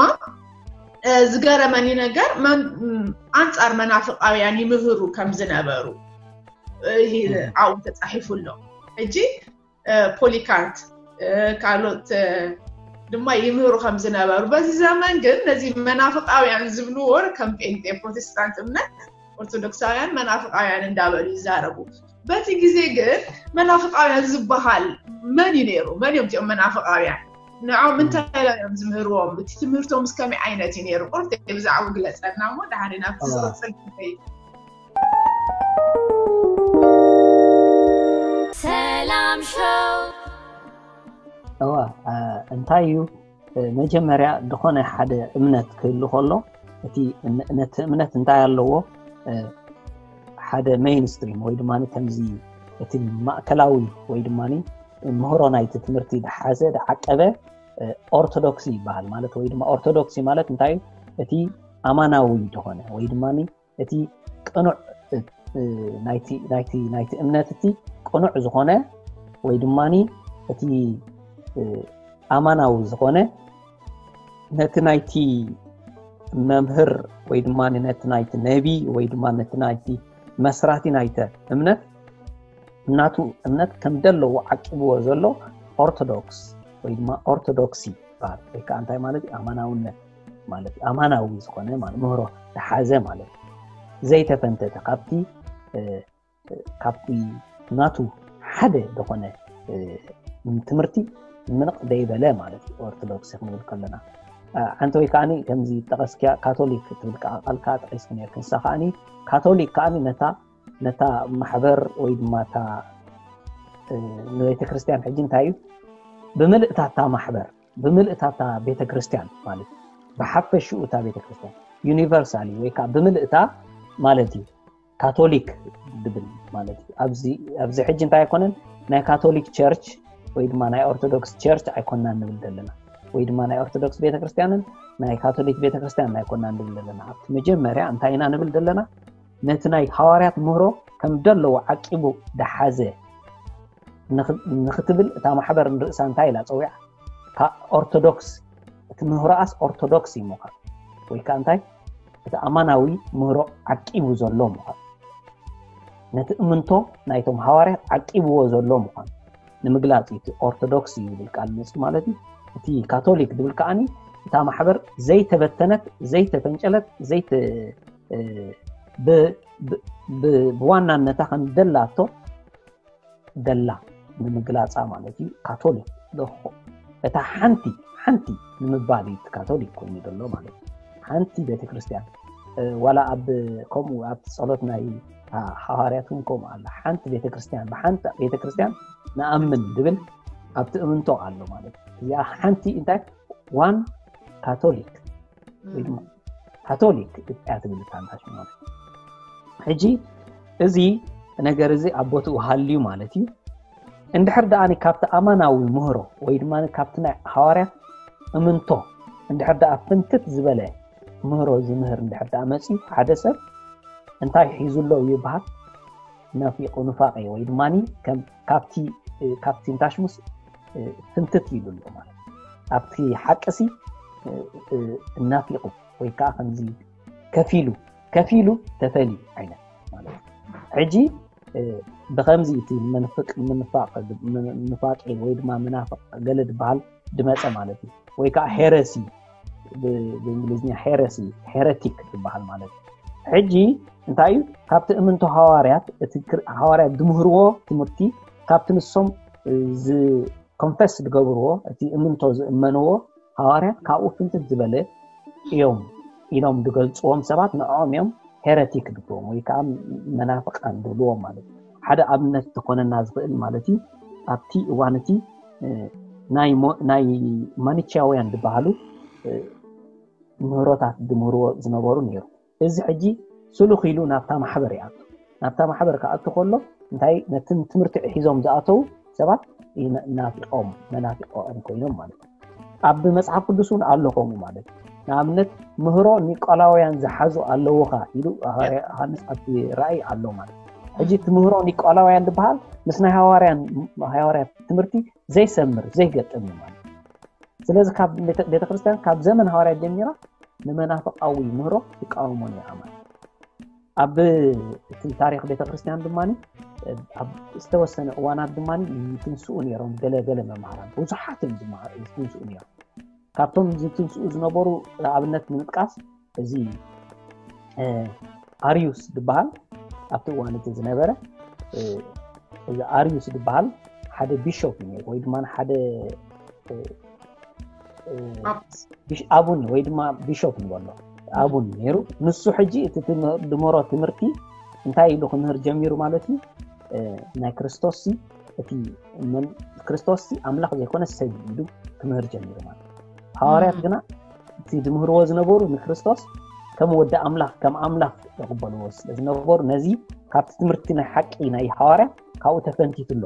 ዝገረመኒ ነገር ኣንፃር መናፍቃውያን ይምህሩ ከም ዝነበሩ ኣብኡ ተፃሒፉ ኣሎ። ሕጂ ፖሊካርፕ ካልኦት ድማ ይምህሩ ከም ዝነበሩ፣ በዚ ዘመን ግን ነዚ መናፍቃውያን ዝብልዎ ከም ጴንጤ ፕሮቴስታንት እምነት ኦርቶዶክሳውያን መናፍቃውያን እንዳበሉ ይዛረቡ። በቲ ግዜ ግን መናፍቃውያን ዝበሃል መን እዩ ነይሩ? መን እዮም እዚኦም መናፍቃውያን? ንዖም እንታይ እዮም ዝምህርዎም? እቲ ትምህርቶም እስከመይ ዓይነት እዩ ነይሩ? ቁርብ ብዛዕባ ግለፀልና እሞ ድሓር ናብቲ ዝቕፅል ክንከይድ። ሰላም ሾው እዋ እንታይ እዩ መጀመርያ ዝኾነ ሓደ እምነት ክህሉ ከሎ እቲ ነቲ እምነት እንታይ ኣለዎ ሓደ ሜይንስትሪም ወይ ድማ ከምዚ እቲ ማእከላዊ ወይ ድማ ምህሮ ናይቲ ትምህርቲ ዝሓዘ ዝዓቀበ ኦርቶዶክሲ ይበሃል ማለት ወይ ድማ ኦርቶዶክሲ ማለት እንታይ እቲ ኣማናዊ ዝኾነ ወይ ድማ እቲ ቅኑዕ ናይቲ እምነት እቲ ቅኑዕ ዝኾነ ወይ ድማ እቲ ኣማናዊ ዝኾነ ነቲ ናይቲ መምህር ወይ ድማ ነቲ ናይቲ ነቢ ወይ ድማ ነቲ ናይቲ መስራቲ ናይቲ እምነት ናቱ እምነት ከም ደለዎ ዓቂብዎ ዘሎ ኦርቶዶክስ ወይ ድማ ኦርቶዶክሲ ይበሃል። ወይ ከዓ እንታይ ማለት እዩ? ኣማናውነት ማለት እዩ። ኣማናዊ ዝኾነ ማለት ምህሮ ዝሓዘ ማለት እዩ። ዘይተፈንተተ ካብቲ ካብቲ ናቱ ሓደ ዝኾነ ትምህርቲ ምንቕ ደይበለ ማለት እዩ። ኦርቶዶክስ ክንብል ከለና ሓንቲ ወይ ከዓ ከምዚ ጠቐስኪያ ካቶሊክ ትብል ከዓ ቃልካ ጠቒስኪ ነርኪ። ንሳ ከዓ ካቶሊክ ከዓ ነታ ነታ ማሕበር ወይ ድማ እታ ንቤተ ክርስቲያን ሕጂ እንታይ እዩ ብምልእታ እታ ማሕበር ብምልእታ እታ ቤተ ክርስቲያን ማለት እዩ። ብሓፈሽኡ እታ ቤተ ክርስቲያን ዩኒቨርሳሊ ወይ ከዓ ብምልእታ ማለት እዩ። ካቶሊክ ድብል ማለት እዩ። ኣብዚ ሕጂ እንታይ ኣይኮነን ናይ ካቶሊክ ቸርች ወይ ድማ ናይ ኦርቶዶክስ ቸርች ኣይኮንና ንብል ዘለና ወይ ድማ ናይ ኦርቶዶክስ ቤተክርስትያንን ናይ ካቶሊክ ቤተክርስትያንን ኣይኮንና ንብል ዘለና። ኣብቲ መጀመርያ እንታይ ኢና ንብል ዘለና? ነቲ ናይ ሃዋርያት ምህሮ ከም ደለዎ ዓቂቡ ደሓዘ ንኽትብል እታ ማሕበር ንርእሳ እንታይ ኢላ ፀዊዓ? ኦርቶዶክስ እቲ ምህሮኣስ ኦርቶዶክስ እዩ ምዃን ወይ ከዓ እንታይ እቲ ኣማናዊ ምህሮ ዓቂቡ ዘሎ ምዃን ነቲ እምንቶ ናይቶም ሃዋርያት ዓቂብዎ ዘሎ ምዃን ንምግላፅ እዩ። እቲ ኦርቶዶክስ እዩ ዝብል ቃል መፅኡ ማለት እዩ። እቲ ካቶሊክ ዝብል ከዓኒ እታ ማሕበር ዘይተበተነት ዘይተፈንጨለት ዘይተ ብዋናነታ ከም ደላቶ ደላ ንምግላፃ ማለት እዩ። ካቶሊክ እታ ሓንቲ ሓንቲ ንምባል እዩ ካቶሊክ ኮይኑ ዘሎ ማለት እዩ። ሓንቲ ቤተክርስትያን ዋላ ኣብ ከምኡ ኣብ ፀሎት ናይ ሃዋርያት እውን ከምኡ ኣሎ። ሓንቲ ቤተክርስትያን ብሓንቲ ቤተክርስትያን ንኣምን ዝብል ኣብቲ እምንቶ ኣሎ ማለት እዩ። እዚኣ ሓንቲ እንታይ ዋን ካቶሊክ ወይ ድማ ካቶሊክ እያ ትብል እታ ንታሽ ማለት ሕጂ እዚ ነገር እዚ ኣብ ቦትኡ ሃልዩ ማለት እዩ። እንድሕር ደኣ ካብቲ ኣማናዊ ምህሮ ወይ ድማ ካብቲ ናይ ሃዋርያት እምንቶ እንድሕር ደኣ ፍንትት ዝበለ ምህሮ ዝምህር እንድሕር ደኣ መፅዩ ሓደ ሰብ እንታይ ሒዙ ኣሎ ይበሃል? ነፊቁ ኑፋቄ ወይ ድማ ካብቲ ካብቲ ንታሽሙስ ፍንትት ኢሉ ኣሎ ማለት ኣብቲ ሓቅሲ እናፊቁ ወይ ከዓ ከምዚ ከፊሉ ከፊሉ ተፈሊ ዓይነት ማለት ሕጂ ብከምዚ እቲ ምንፋቅ ኑፋቄ ወይ ድማ መናፍቅ ገለ ዝበሃል ድመፀ ማለት እዩ። ወይ ከዓ ሄረሲ ብእንግሊዝኛ ሄረሲ ሄረቲክ ዝበሃል ማለት እዩ። ሕጂ እንታይ እዩ ካብቲ እምንቶ ሃዋርያት እቲ ሃዋርያት ዝምህርዎ ትምህርቲ ካብቲ ንሶም ኮንፈስ ዝገብርዎ እቲ እምንቶ ዝእመንዎ ሃዋርያት ካብኡ ፍንትት ዝበለ እዮም ኢሎም ዝገልፅዎም ሰባት ንዕኦም እዮም ሄረቲክ ዝብልዎም ወይ ከዓ መናፍቃን ዝብልዎም ማለት እዩ። ሓደ ኣብነት ተኮነና ዝኽእል ማለት እዩ ኣብቲ እዋን እቲ ናይ ማኒቻውያን ዝበሃሉ ምህሮታት ዝምህርዎ ዝነበሩ ነይሩ። እዚ ሕጂ ስሉኽ ኢሉ ናብታ ማሕበር ይኣቱ። ናብታ ማሕበር ክኣቱ ከሎ እንታይ ነቲ ትምህርቲ ሒዞም ዝኣተው ሰባት ናፊቆም መናፊቆም ኮይኖም ማለት እዩ። ኣብ መፅሓፍ ቅዱስ እውን ኣሎ ከምኡ ማለት እዩ። ንኣብነት ምህሮ ኒቆላውያን ዝሓዙ ኣለውኻ ኢሉ ዮሃንስ ኣብቲ ራእይ ኣሎ ማለት እዩ። ሕጂ እቲ ምህሮ ኒቆላውያን ዝበሃል ምስ ናይ ሃዋርያን ሃዋርያት ትምህርቲ ዘይሰምር ዘይገጥም እዩ ማለት እዩ። ስለዚ ካብ ቤተክርስትያን ካብ ዘመን ሃዋርያት ጀሚራ ንመናፍቃዊ ምህሮ ትቃወሞ ነይራ ማለት ኣብ እቲ ታሪክ ቤተክርስትያን ድማ ኣብ ዝተወሰነ እዋናት ድማ ይትንስኡ ነይሮም ገለ ገለ መምሃራን ብዙሓት እዮም ዝትንስኡ ነይሮም። ካብቶም ዝትንስኡ ዝነበሩ ኣብነት ንምጥቃስ እዚ ኣርዩስ ዝበሃል ኣብቲ እዋን እቲ ዝነበረ እዚ ኣርዩስ ዝበሃል ሓደ ቢሾፕ እዩ ወይ ድማ ሓደ ኣቡን ወይ ድማ ቢሾፕ ንበሎ ኣቡን ነይሩ። ንሱ ሕጂ እቲ ድመሮ ትምህርቲ እንታይ ኢሉ ክምህር ጀሚሩ ማለት እዩ። ናይ ክርስቶስ እቲ ክርስቶስ ኣምላኽ ዘይኮነ ሰብ ኢሉ ክምህር ጀሚሩ ማለት እዩ። ሃዋርያት ግና እቲ ዝምህርዎ ዝነበሩ ንክርስቶስ ከም ወዲ ኣምላኽ ከም ኣምላኽ ይቕበልዎ ስለ ዝነበሩ ነዚ ካብቲ ትምህርቲ ናይ ሓቂ ናይ ሃዋርያ ካብኡ ተፈንቲቱ ኣሎ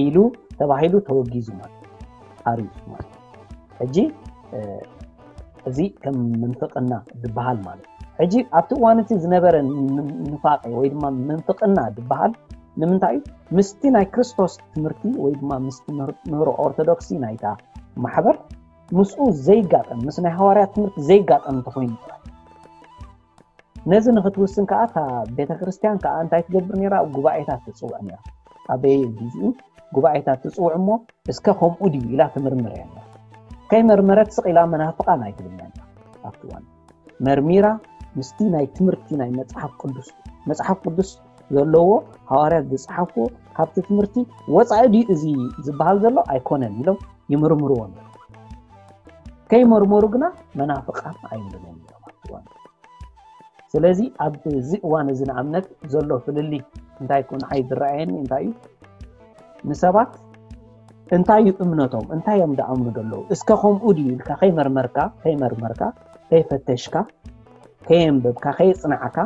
ኢሉ ተባሂሉ ተወጊዙ ማለት ኣርዩስ ማለት ሕጂ እዚ ከም ምንፍቅና ዝበሃል ማለት ሕጂ ኣብቲ እዋን እቲ ዝነበረ ንፋቄ ወይ ድማ ምንፍቅና ዝበሃል ንምንታይ እዩ? ምስቲ ናይ ክርስቶስ ትምህርቲ ወይ ድማ ምስቲ ምህሮ ኦርቶዶክሲ ናይታ ማሕበር ምስኡ ዘይጋጠም ምስ ናይ ሃዋርያት ትምህርቲ ዘይጋጠም እንተኮይኑ ጥራይ ነዚ ንክትውስን ከዓ እታ ቤተክርስትያን ከዓ እንታይ ትገብር ነራ? ጉባኤታት ትፅውዕ ነራ። ኣበየ ግዜኡ ጉባኤታት ትፅውዕ እሞ እስከ ከምኡ ድዩ ኢላ ትምርምር እያ ነራ። ከይመርመረት ስቕ ኢላ መናፍቃን ኣይትብልን እያ ነራ። ኣብቲ እዋን መርሚራ ምስቲ ናይ ትምህርቲ ናይ መፅሓፍ ቅዱስ መፅሓፍ ቅዱስ ዘለዎ ሃዋርያት ዝፀሓፍዎ ካብቲ ትምህርቲ ወፃኢ ድዩ እዚ ዝበሃል ዘሎ ኣይኮነን ኢሎም ይምርምርዎ ነሩ። ከይመርመሩ ግና መናፍቃን ኣይብሉን እዮም ነሮም ኣብቲ እዋን። ስለዚ ኣብዚ እዋን እዚ ንኣብነት ዘሎ ፍልልይ እንታይ ኮ ንዓይ ዝረኣየኒ እንታይ እዩ? ንሰባት እንታይ እዩ እምነቶም እንታይ እዮም ዝኣምኑ ዘለዉ እስከ ከምኡ ድዩ ኢልካ ከይመርመርካ ከይመርመርካ ከይፈተሽካ ከየንበብካ ከየፅናዕካ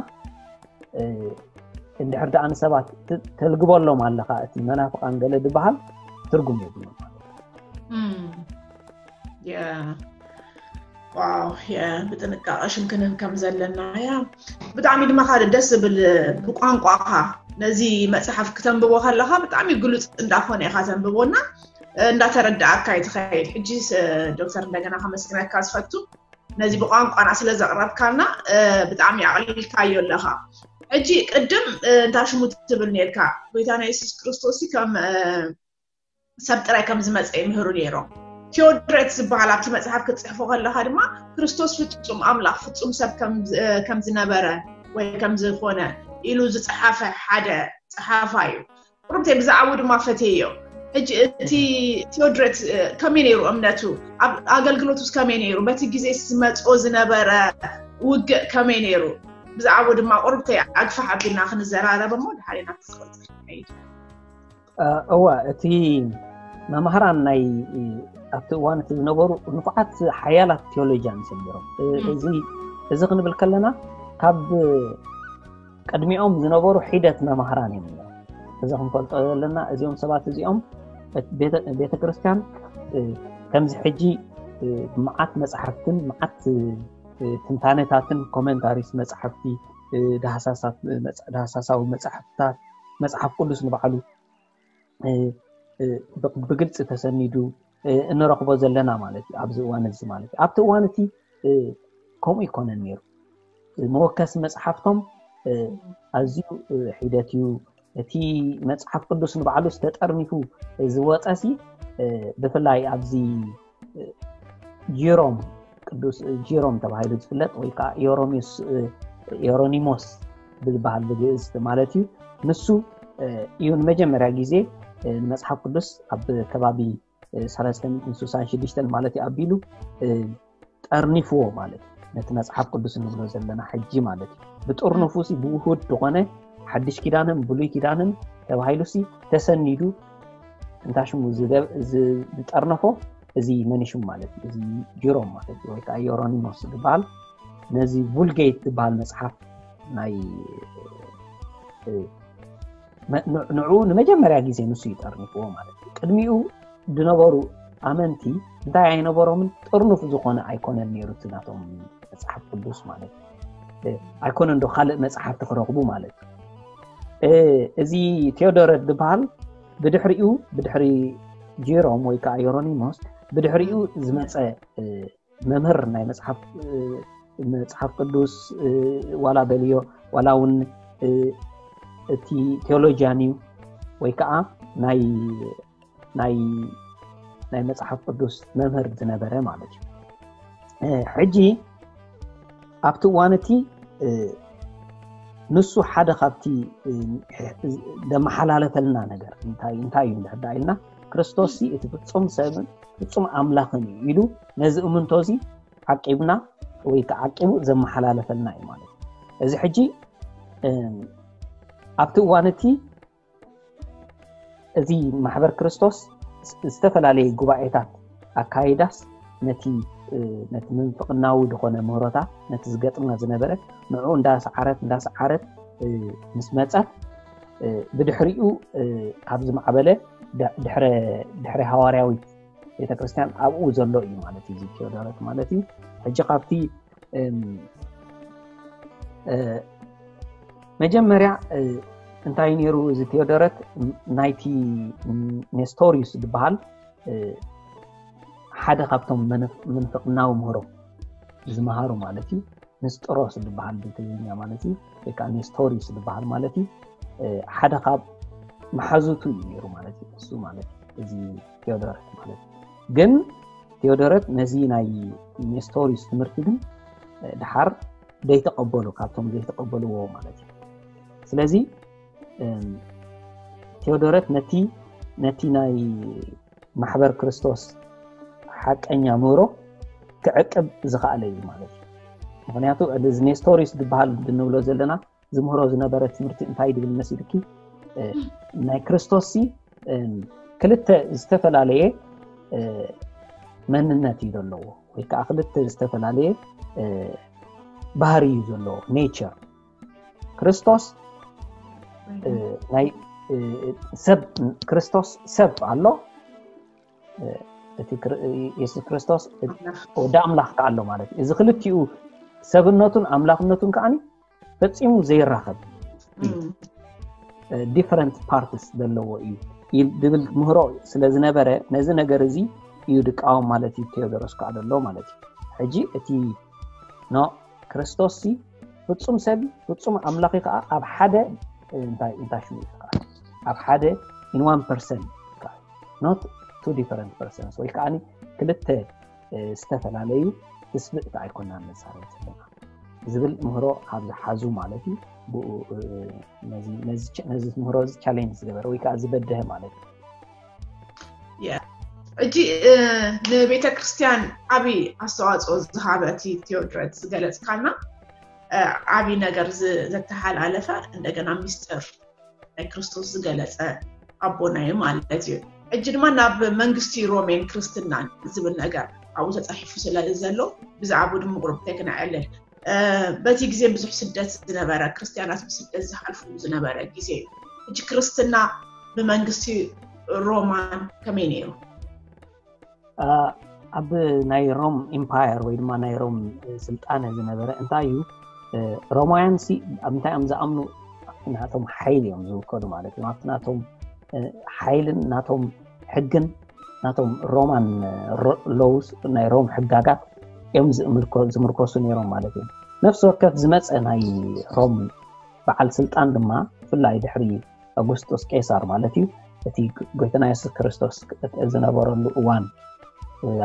እንድሕር ደኣ ንሰባት ተልግበሎም ኣለኻ እቲ መናፍቃን ገለ ዝበሃል ትርጉም የብሉ። ዋው ብጥንቃቐ ሽም ክንህብ ከም ዘለና ያ ብጣዕሚ ድማ ካልእ ደስ ዝብል ብቋንቋኻ ነዚ መፅሓፍ ክተንብቦ ከለኻ ብጣዕሚ ግሉፅ እንዳኾነ ኢኻ ተንብቦና እንዳተረዳእካ እዩ ትኸይድ። ሕጂ ዶክተር እንደገና ከመስግነካ ዝፈቱ ነዚ ብቋንቋና ስለ ዘቕረብካልና ብጣዕሚ ኣቕሊልካዮ ኣለኻ። ሕጂ ቅድም እንታይ ሽሙ ትብል ነርካ ጎይታና የሱስ ክርስቶስ ከም ሰብ ጥራይ ከም ዝመፀ ይምህሩ ነይሮም። ቴዎድሬት ዝበሃል ኣብቲ መፅሓፍ ክትፅሕፎ ከለካ ድማ ክርስቶስ ፍፁም ኣምላኽ ፍፁም ሰብ ከም ዝነበረ ወይ ከም ዝኾነ ኢሉ ዝፀሓፈ ሓደ ፀሓፋ እዩ። ቁርብተይ ብዛዕባኡ ድማ ፈትየዮ። ሕጂ እቲ ቴዎድሮት ከመይ ነይሩ እምነቱ? ኣብ ኣገልግሎቱስ ከመይ ነይሩ? በቲ ግዜ ዝመፅኦ ዝነበረ ውግእ ከመይ ነይሩ? ብዛዕባኡ ድማ ቁርብተይ ኣግፋሕ ኣቢልና ክንዘራረብ እሞ ድሓር ኢና ክትቆፅር። እዋ፣ እቲ መማህራን ናይ ኣብቲ እዋን እቲ ዝነበሩ ንፉዓት ሓያላት ቴዎሎጂያን ሰሚሮም። እዚ እዚ ክንብል ከለና ካብ ቅድሚኦም ዝነበሩ ሒደት መማህራን እዮም። እዚ ክንፈልጦ ዘለና እዚኦም ሰባት እዚኦም ቤተ ክርስቲያን ከምዚ ሕጂ መዓት መፅሓፍትን መዓት ትንታነታትን ኮመንታሪስ መፅሓፍቲ ዳህሳሳዊ መፅሓፍታት መፅሓፍ ቅዱስ ንባዕሉ ብግልፂ ተሰኒዱ እንረኽቦ ዘለና ማለት እዩ። ኣብዚ እዋን እዚ ማለት እዩ። ኣብቲ እዋን እቲ ከምኡ ይኮነን ነይሩ። መወከሲ መፅሓፍቶም ኣዝዩ ሒደት እዩ። እቲ መፅሓፍ ቅዱስ ንባዕሉ ዝተጠርኒፉ ዝወፀ ሲ ብፍላይ ኣብዚ ጂሮም ቅዱስ ጂሮም ተባሂሉ ዝፍለጥ ወይ ከዓ ዮሮሚስ ዮሮኒሞስ ዝበሃል ብግእዝ ማለት እዩ። ንሱ እዩ ንመጀመርያ ግዜ ንመፅሓፍ ቅዱስ ኣብ ከባቢ ሰለስተ ሚእትን ስሳን ሽዱሽተን ማለት እዩ ኣቢሉ ጠርኒፍዎ ማለት እዩ። ነቲ መፅሓፍ ቅዱስ እንብሎ ዘለና ሕጂ ማለት እዩ። ብጥርኑፉ ሲ ብውሁድ ዝኾነ ሓድሽ ኪዳንን ብሉይ ኪዳንን ተባሂሉ ሲ ተሰኒዱ እንታ ሽሙ ዝጠርነፎ እዚ መን ሽሙ ማለት እዩ። እዚ ጂሮም ማለት እዩ ወይ ከዓ ዮሮኒሞስ ዝበሃል ነዚ ቡልጌት ዝበሃል መፅሓፍ ናይ ንዑ ንመጀመርያ ግዜ ንሱ ይጠርኒፍዎ ማለት እዩ። ቅድሚኡ ዝነበሩ ኣመንቲ እንታይ ኣይነበሮምን ጥርኑፍ ዝኾነ ኣይኮነን ነይሩ እቲ ናቶም መፅሓፍ ቅዱስ ማለት እዩ። ኣይኮነን ዶ ካልእ መፅሓፍቲ ክረኽቡ ማለት እዩ። እዚ ቴዎዶረት ዝበሃል ብድሕሪኡ ብድሕሪ ጂሮም ወይ ከዓ ዮሮኒሞስ ብድሕሪኡ ዝመፀ መምህር ናይ መፅሓፍ መፅሓፍ ቅዱስ ዋላ በልዮ ዋላ እውን እቲ ቴዎሎጂያን እዩ ወይ ከዓ ናይ ናይ ናይ መፅሓፍ ቅዱስ መምህር ዝነበረ ማለት እዩ። ሕጂ ኣብቲ እዋን እቲ ንሱ ሓደ ካብቲ ዘመሓላለፈልና ነገር እንታይ እንታይ እዩ እንድሕር ኢልና ክርስቶስ እቲ ፍፁም ሰብን ፍፁም ኣምላኽን እዩ ኢሉ ነዚ እምንቶ እዚ ዓቂብና ወይ ከዓ ዓቂቡ ዘመሓላለፈልና እዩ ማለት እዩ። እዚ ሕጂ ኣብቲ እዋን እቲ እዚ ማሕበር ክርስቶስ ዝተፈላለየ ጉባኤታት ኣካይዳስ ነቲ ነቲ ምንፍቅናዊ ዝኾነ ምህሮታት ነቲ ዝገጥማ ዝነበረ ንዑ እንዳሰዓረት እንዳሰዓረት ምስ መፀት ብድሕሪኡ ካብ ዝማዕበለ ድሕረ ድሕረ ሃዋርያዊት ቤተክርስትያን ኣብኡ ዘሎ እዩ ማለት እዩ። እዚ ቴዎዶረት ማለት እዩ። ሕጂ ካብቲ መጀመርያ እንታይ ነይሩ እዚ ቴዎዶረት ናይቲ ኔስቶሪዩስ ዝበሃል ሓደ ካብቶም ምንፍቅናዊ ምህሮ ዝመሃሩ ማለት እዩ። ንስጥሮስ ዝበሃል ብትግርኛ ማለት እዩ ወይ ከዓ ኔስቶሪስ ዝበሃል ማለት እዩ። ሓደ ካብ መሓዙቱ እዩ ነይሩ ማለት እዩ። እሱ ማለት እዩ እዚ ቴዎዶረት ማለት እዩ። ግን ቴዎዶረት ነዚ ናይ ኔስቶሪስ ትምህርቲ ግን ድሓር ዘይተቀበሉ ካብቶም ዘይተቀበልዎ ማለት እዩ። ስለዚ ቴዎዶረት ነቲ ነቲ ናይ ማሕበር ክርስቶስ ሓቀኛ ምህሮ ክዕቅብ ዝኸኣለ እዩ ማለት እዩ። ምክንያቱ እዚ ኔስቶሪስ ዝበሃል እንብሎ ዘለና ዝምህሮ ዝነበረ ትምህርቲ እንታይ ድብል መሲልኪ ናይ ክርስቶስ ሲ ክልተ ዝተፈላለየ መንነት እዩ ዘለዎ ወይ ከዓ ክልተ ዝተፈላለየ ባህሪ እዩ ዘለዎ ኔቸር ክርስቶስ ናይ ሰብ ክርስቶስ ሰብ ኣሎ እቲ የሱስ ክርስቶስ ወዲ ኣምላኽ ከዓ ኣሎ ማለት እዩ። እዚ ክልቲኡ ሰብነቱን ኣምላኽነቱን ከዓ ፈፂሙ ዘይራኸብ ዲፈረንት ፓርትስ ዘለዎ እዩ ድብል ምህሮ ስለ ዝነበረ ነዚ ነገር እዚ እዩ ድቃወም ማለት እዩ። ቴዎዶሮስ ከዓ ዘሎ ማለት እዩ። ሕጂ እቲ ኖ ክርስቶስ ሲ ፍጹም ሰብ ፍጹም ኣምላኽ ከዓ ኣብ ሓደ እንታይ እንታይ ሽሙ ከዓ ኣብ ሓደ in one person not two different persons ወይ ከዓ ክልተ ዝተፈላለዩ ትስብእቲ ኣይኮናን ንዛረብ ዘለና። ዝብል ምህሮ ካብ ዝሓዙ ማለት እዩ። ብኡ ነዚ ምህሮ እዚ ቻሌንጅ ዝገበረ ወይ ከዓ ዝበደሀ ማለት እዩ። እጂ ንቤተ ክርስቲያን ዓብይ ኣስተዋፅኦ ዝሃበ እቲ ቴዎድረስ ዝገለፅካልና ዓብይ ነገር ዘተሓላለፈ እንደገና ሚስጥር ናይ ክርስቶስ ዝገለፀ ኣቦና እዩ ማለት እዩ። እጂ ድማ ናብ መንግስቲ ሮሜን ክርስትናን ዝብል ነገር ኣብኡ ተፃሒፉ ስለ ዘሎ ብዛዕባኡ ድማ ቁሩብ ተክነዐልል። በቲ ግዜ ብዙሕ ስደት ዝነበረ፣ ክርስትያናት ብስደት ዝሓልፉ ዝነበረ ግዜ እዩ። እጂ ክርስትና ብመንግስቲ ሮማን ከመይ ነይሩ? ኣብ ናይ ሮም ኢምፓየር ወይ ድማ ናይ ሮም ስልጣነ ዝነበረ እንታይ እዩ? ሮማውያን ሲ ኣብ እንታይ እዮም ዝኣምኑ? ናቶም ሓይሊ እዮም ዝውከሉ ማለት እዩ። ኣብቲ ናቶም ሓይልን ናቶም ሕግን ናቶም ሮማን ሎውስ ናይ ሮም ሕጋጋት እዮም ዝምርኮሱ ነይሮም ማለት እዩ። ነፍሲ ወከፍ ዝመፀ ናይ ሮም በዓል ስልጣን ድማ ብፍላይ ድሕሪ ኣጉስጦስ ቄሳር ማለት እዩ፣ እቲ ጎይታና የሱስ ክርስቶስ ዝነበረሉ እዋን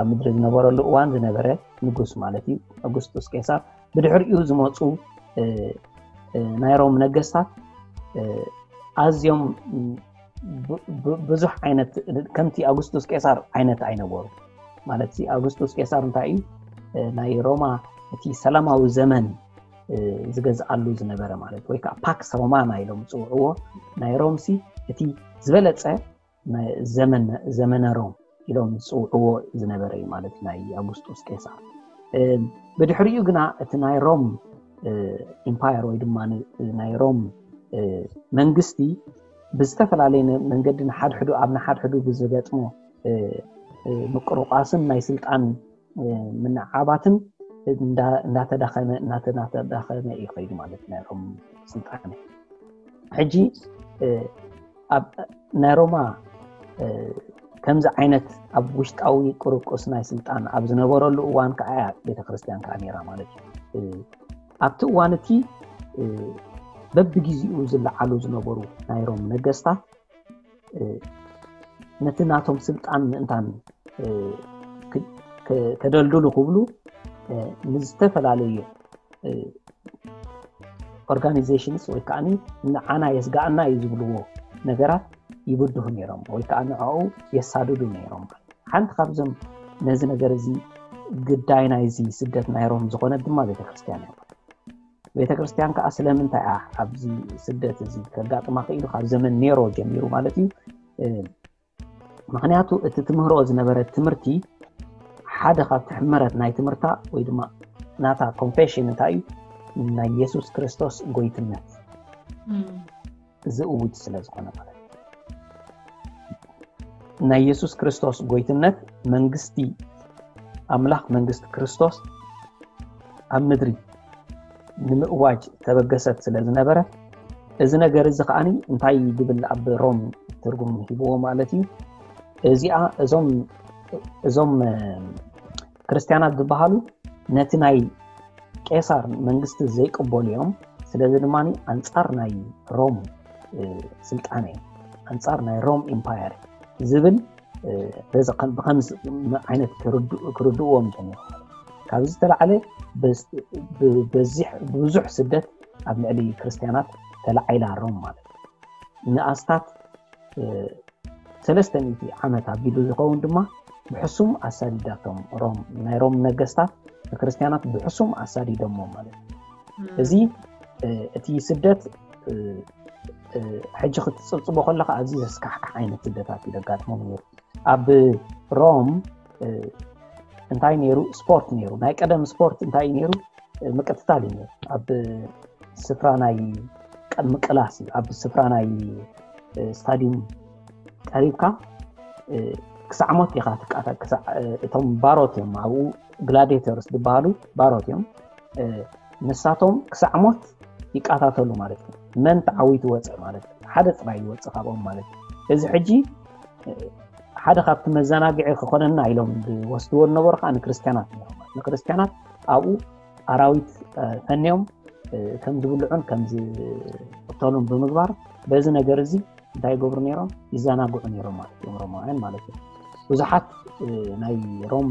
ኣብ ምድሪ ዝነበረሉ እዋን ዝነበረ ንጉስ ማለት እዩ ኣጉስጦስ ቄሳር። ብድሕሪኡ ዝመፁ ናይ ሮም ነገስታት ኣዝዮም ብዙሕ ዓይነት ከምቲ ኣጉስጡስ ቄሳር ዓይነት ኣይነበሩ ማለት ኣጉስጡስ ቄሳር እንታይ እዩ ናይ ሮማ እቲ ሰላማዊ ዘመን ዝገዝኣሉ ዝነበረ ማለት ወይ ከዓ ፓክስ ሮማና ኢሎም ዝፅውዕዎ ናይ ሮም ሲ እቲ ዝበለፀ ዘመነ ሮም ኢሎም ዝፅውዕዎ ዝነበረ እዩ ማለት ናይ ኣጉስጡስ ቄሳር። ብድሕሪኡ ግና እቲ ናይ ሮም ኢምፓየር ወይ ድማ ናይ ሮም መንግስቲ ብዝተፈላለየ መንገዲ ንሓድሕዱ ኣብ ንሓድሕዱ ብዝገጥሞ ምቅርቋስን ናይ ስልጣን ምንዓባትን እንዳተዳኸመ እናተዳኸመ እዩ ከይዱ ማለት ናይ ሮም ስልጣን። ሕጂ ናይ ሮማ ከምዚ ዓይነት ኣብ ውሽጣዊ ቅርቁስ ናይ ስልጣን ኣብ ዝነበረሉ እዋን ከዓ እያ ቤተክርስትያን ከዓ ነይራ ማለት እዩ። ኣብቲ እዋን እቲ በብግዜኡ ዝለዓሉ ዝነበሩ ናይ ሮም ነገስታት ነቲ ናቶም ስልጣን ምእንታን ከደልድሉ ክብሉ ንዝተፈላለዩ ኦርጋኒዜሽንስ ወይ ከዓ ንዓና የስጋኣና እዩ ዝብልዎ ነገራት ይብድሁ ነይሮም ወይ ከዓ ንዕኡ የሳድዱ ነይሮም። ሓንቲ ካብዞም ነዚ ነገር እዚ ግዳይ ናይዚ ስደት ናይ ሮም ዝኾነት ድማ ቤተክርስትያን እያ። ቤተክርስትያን ከዓ ስለምንታይ እያ ኣብዚ ስደት እዚ ከጋጥማ ክኢሉ? ካብ ዘመን ኔሮ ጀሚሩ ማለት እዩ። ምክንያቱ እቲ ትምህሮ ዝነበረ ትምህርቲ ሓደ ካብ ትሕመረት ናይ ትምህርታ ወይ ድማ ናታ ኮንፌሽን እንታይ እዩ? ናይ የሱስ ክርስቶስ ጎይትነት ዝእውጅ ስለ ዝኾነ ማለት እዩ። ናይ የሱስ ክርስቶስ ጎይትነት መንግስቲ ኣምላኽ መንግስቲ ክርስቶስ ኣብ ምድሪ ንምእዋጅ ተበገሰት ስለ ዝነበረ እዚ ነገር እዚ ከዓኒ እንታይ ዝብል ኣብ ሮም ትርጉም ሂብዎ ማለት እዩ። እዚኣ እዞም እዞም ክርስትያናት ዝበሃሉ ነቲ ናይ ቄሳር መንግስቲ ዘይቅበሉ እዮም። ስለዚ ድማ ኣንጻር ናይ ሮም ስልጣነ ኣንጻር ናይ ሮም ኢምፓየር ዝብል ብከምዚ ዓይነት ክርድእዎም ጀሚሩ። ካብዚ ዝተላዕለ ብብዙሕ ስደት ኣብ ልዕሊ ክርስትያናት ተላዒላ ሮም ማለት ንኣስታት ሰለስተ ሚእቲ ዓመት ኣቢሉ ዝኸውን ድማ ብሕሱም ኣሳዲዳቶም ሮም ናይ ሮም ነገስታት ንክርስትያናት ብሕሱም ኣሳዲዶሞ ማለት እዩ። እዚ እቲ ስደት ሕጂ ክትፅብፅቦ ከለካ ኣዝዩ ዘስካሕካሕ ዓይነት ስደታት እዩ ዘጋጥሞም ነይሩ። ኣብ ሮም እንታይ ነይሩ? ስፖርት ነይሩ። ናይ ቀደም ስፖርት እንታይ እዩ ነይሩ? ምቅትታል እዩ ነይሩ። ኣብ ስፍራ ናይ ምቅላስ እዩ። ኣብ ስፍራ ናይ ስታዲየም ቀሪብካ ክሳዕ ሞት ኢኻ ትቃታ። እቶም ባሮት እዮም ኣብኡ ግላዲተርስ ዝበሃሉ ባሮት እዮም። ንሳቶም ክሳዕ ሞት ይቃታተሉ ማለት እዩ። መን ተዓዊቱ ወፀ ማለት እዩ። ሓደ ጥራይ ይወፅእ ካብኦም ማለት እዩ። እዚ ሕጂ ሓደ ካብቲ መዘናግዒ ክኾነና ኢሎም ዝወስድዎ ዝነበሩ ከዓ ንክርስትያናት እዮም። ንክርስትያናት ኣብኡ ኣራዊት ፈንዮም ከም ዝብልዑን ከም ዝቅተሉን ብምግባር በዚ ነገር እዚ እንታይ ይገብሩ ነይሮም? ይዘናግዑ ነይሮም ማለት እዮም ሮማውያን ማለት እዩ። ብዙሓት ናይ ሮም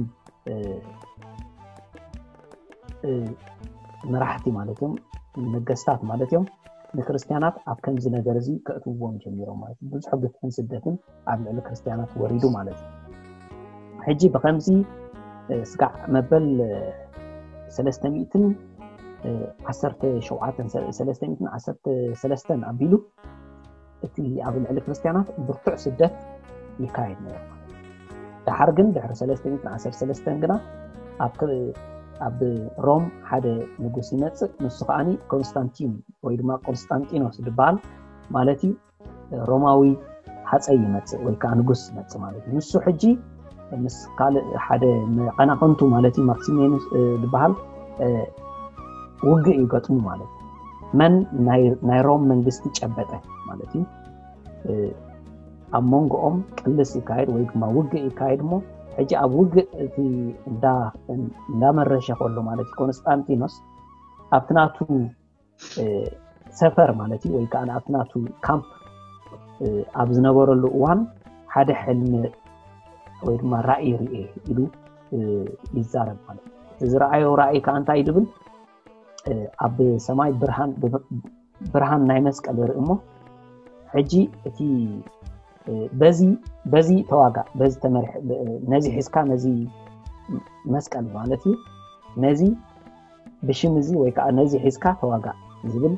መራሕቲ ማለት እዮም፣ ነገስታት ማለት እዮም፣ ንክርስትያናት ኣብ ከምዚ ነገር እዚ ከእትውዎም ጀሚሮም ማለት እዩ። ብዙሕ ግፍዕን ስደትን ኣብ ልዕሊ ክርስትያናት ወሪዱ ማለት እዩ። ሕጂ ብከምዚ ስጋዕ መበል ሰለስተ ሚእትን ዓሰርተ ሸውዓተን ሰለስተ ሚእትን ዓሰርተ ሰለስተን ኣቢሉ እቲ ኣብ ልዕሊ ክርስትያናት ብርቱዕ ስደት ይካየድ ነይሩ። ድሓር ግን ድሕሪ ሰለስተ ሚእትን ዓሰርተ ሰለስተን ግና ኣብ ሮም ሓደ ንጉስ ይመፅእ። ንሱ ከዓኒ ኮንስታንቲን ወይ ድማ ቆንስጣንጢኖስ ዝበሃል ማለት እዩ። ሮማዊ ሃፀይ ይመፅእ ወይ ከዓ ንጉስ ይመፅእ ማለት እዩ። ንሱ ሕጂ ምስ ካልእ ሓደ መቐናቕንቱ ማለት እዩ ማክሲሜኑስ ዝበሃል ውግእ ይገጥሙ ማለት እዩ። መን ናይ ሮም መንግስቲ ጨበጠ ማለት እዩ። ኣብ መንጎኦም ቅልስ ይካየድ ወይ ድማ ውግእ ይካየድ እሞ ሕጂ ኣብ ውግእ እቲ እንዳመረሸ ከሎ ማለት እዩ ኮንስጣንቲኖስ ኣብቲ ናቱ ሰፈር ማለት እዩ ወይ ከዓ ኣብቲ ናቱ ካምፕ ኣብ ዝነበረሉ እዋን ሓደ ሕልሚ ወይ ድማ ራእይ ርኤ ኢሉ ይዛረብ ማለት እዩ። ዝረኣዮ ራእይ ከዓ እንታይ ድብል ኣብ ሰማይ ብርሃን ናይ መስቀል ይርኢ እሞ ሕጂ እቲ በዚ በዚ ተዋጋእ በዚ ተመርሕ ነዚ ሒዝካ ነዚ መስቀል ማለት እዩ ነዚ ብሽም እዚ ወይ ከዓ ነዚ ሒዝካ ተዋጋእ ዝብል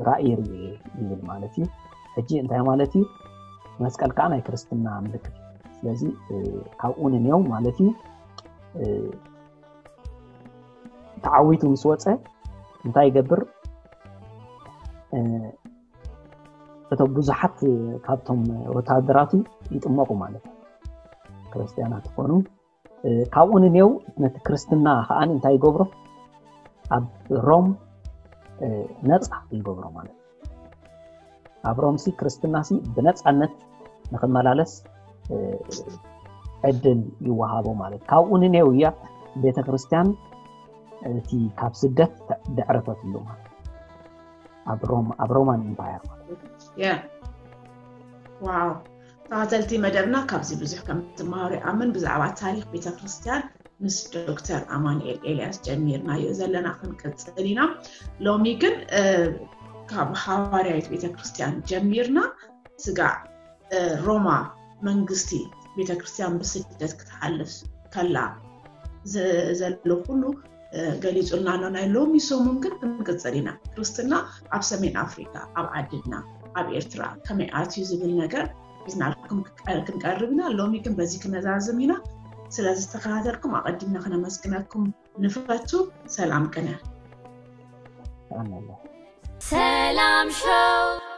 ራእይ ርኤ ይብል ማለት እዩ። ሕጂ እንታይ ማለት እዩ? መስቀል ከዓ ናይ ክርስትና ምልክት እዩ። ስለዚ ካብኡ ንንየው ማለት እዩ ተዓዊቱ ምስ ወፀ እንታይ ይገብር? እቶም ብዙሓት ካብቶም ወታደራቱ ይጥመቁ ማለት እዩ። ክርስትያናት ይኾኑ። ካብኡ ንንየው ነቲ ክርስትና ከዓ እንታይ ይገብሮ? ኣብ ሮም ነፃ ይገብሮ ማለት እዩ። ኣብ ሮምሲ ክርስትናሲ ብነፃነት ንክመላለስ ዕድል ይወሃቦ ማለት ካብኡ ንኔው እያ ቤተክርስትያን እቲ ካብ ስደት ደዕረፈትሉ ማለት ኣብ ሮም ኣብ ሮማን ኢምፓየር ማለት ዋው ተኸተልቲ መደብና ካብዚ ብዙሕ ከም ትመሃሩ ይኣምን ብዛዕባ ታሪክ ቤተክርስትያን ምስ ዶክተር ኣማንኤል ኤልያስ ጀሚርናዮ ዘለና ክንቅፅል ኢና ሎሚ ግን ካብ ሃዋርያዊት ቤተክርስትያን ጀሚርና ስጋዕ ሮማ መንግስቲ ቤተክርስትያን ብስደት ክትሓልፍ ከላ ዘሎ ኩሉ ገሊፁልና ኣሎ ናይ ሎሚ ሰሙን ግን ክንቅፅል ኢና ክርስትና ኣብ ሰሜን ኣፍሪካ ኣብ ዓድና ኣብ ኤርትራ ከመይ ኣትዩ ዝብል ነገር ሒዝናልኩም ክንቀርብ ኢና ሎሚ ግን በዚ ክነዛዝም ኢና ስለዝተከታተልኩም ኣቀዲምና ክነመስግነኩም ንፈቱ ሰላም ቅነ ሰላም ሾው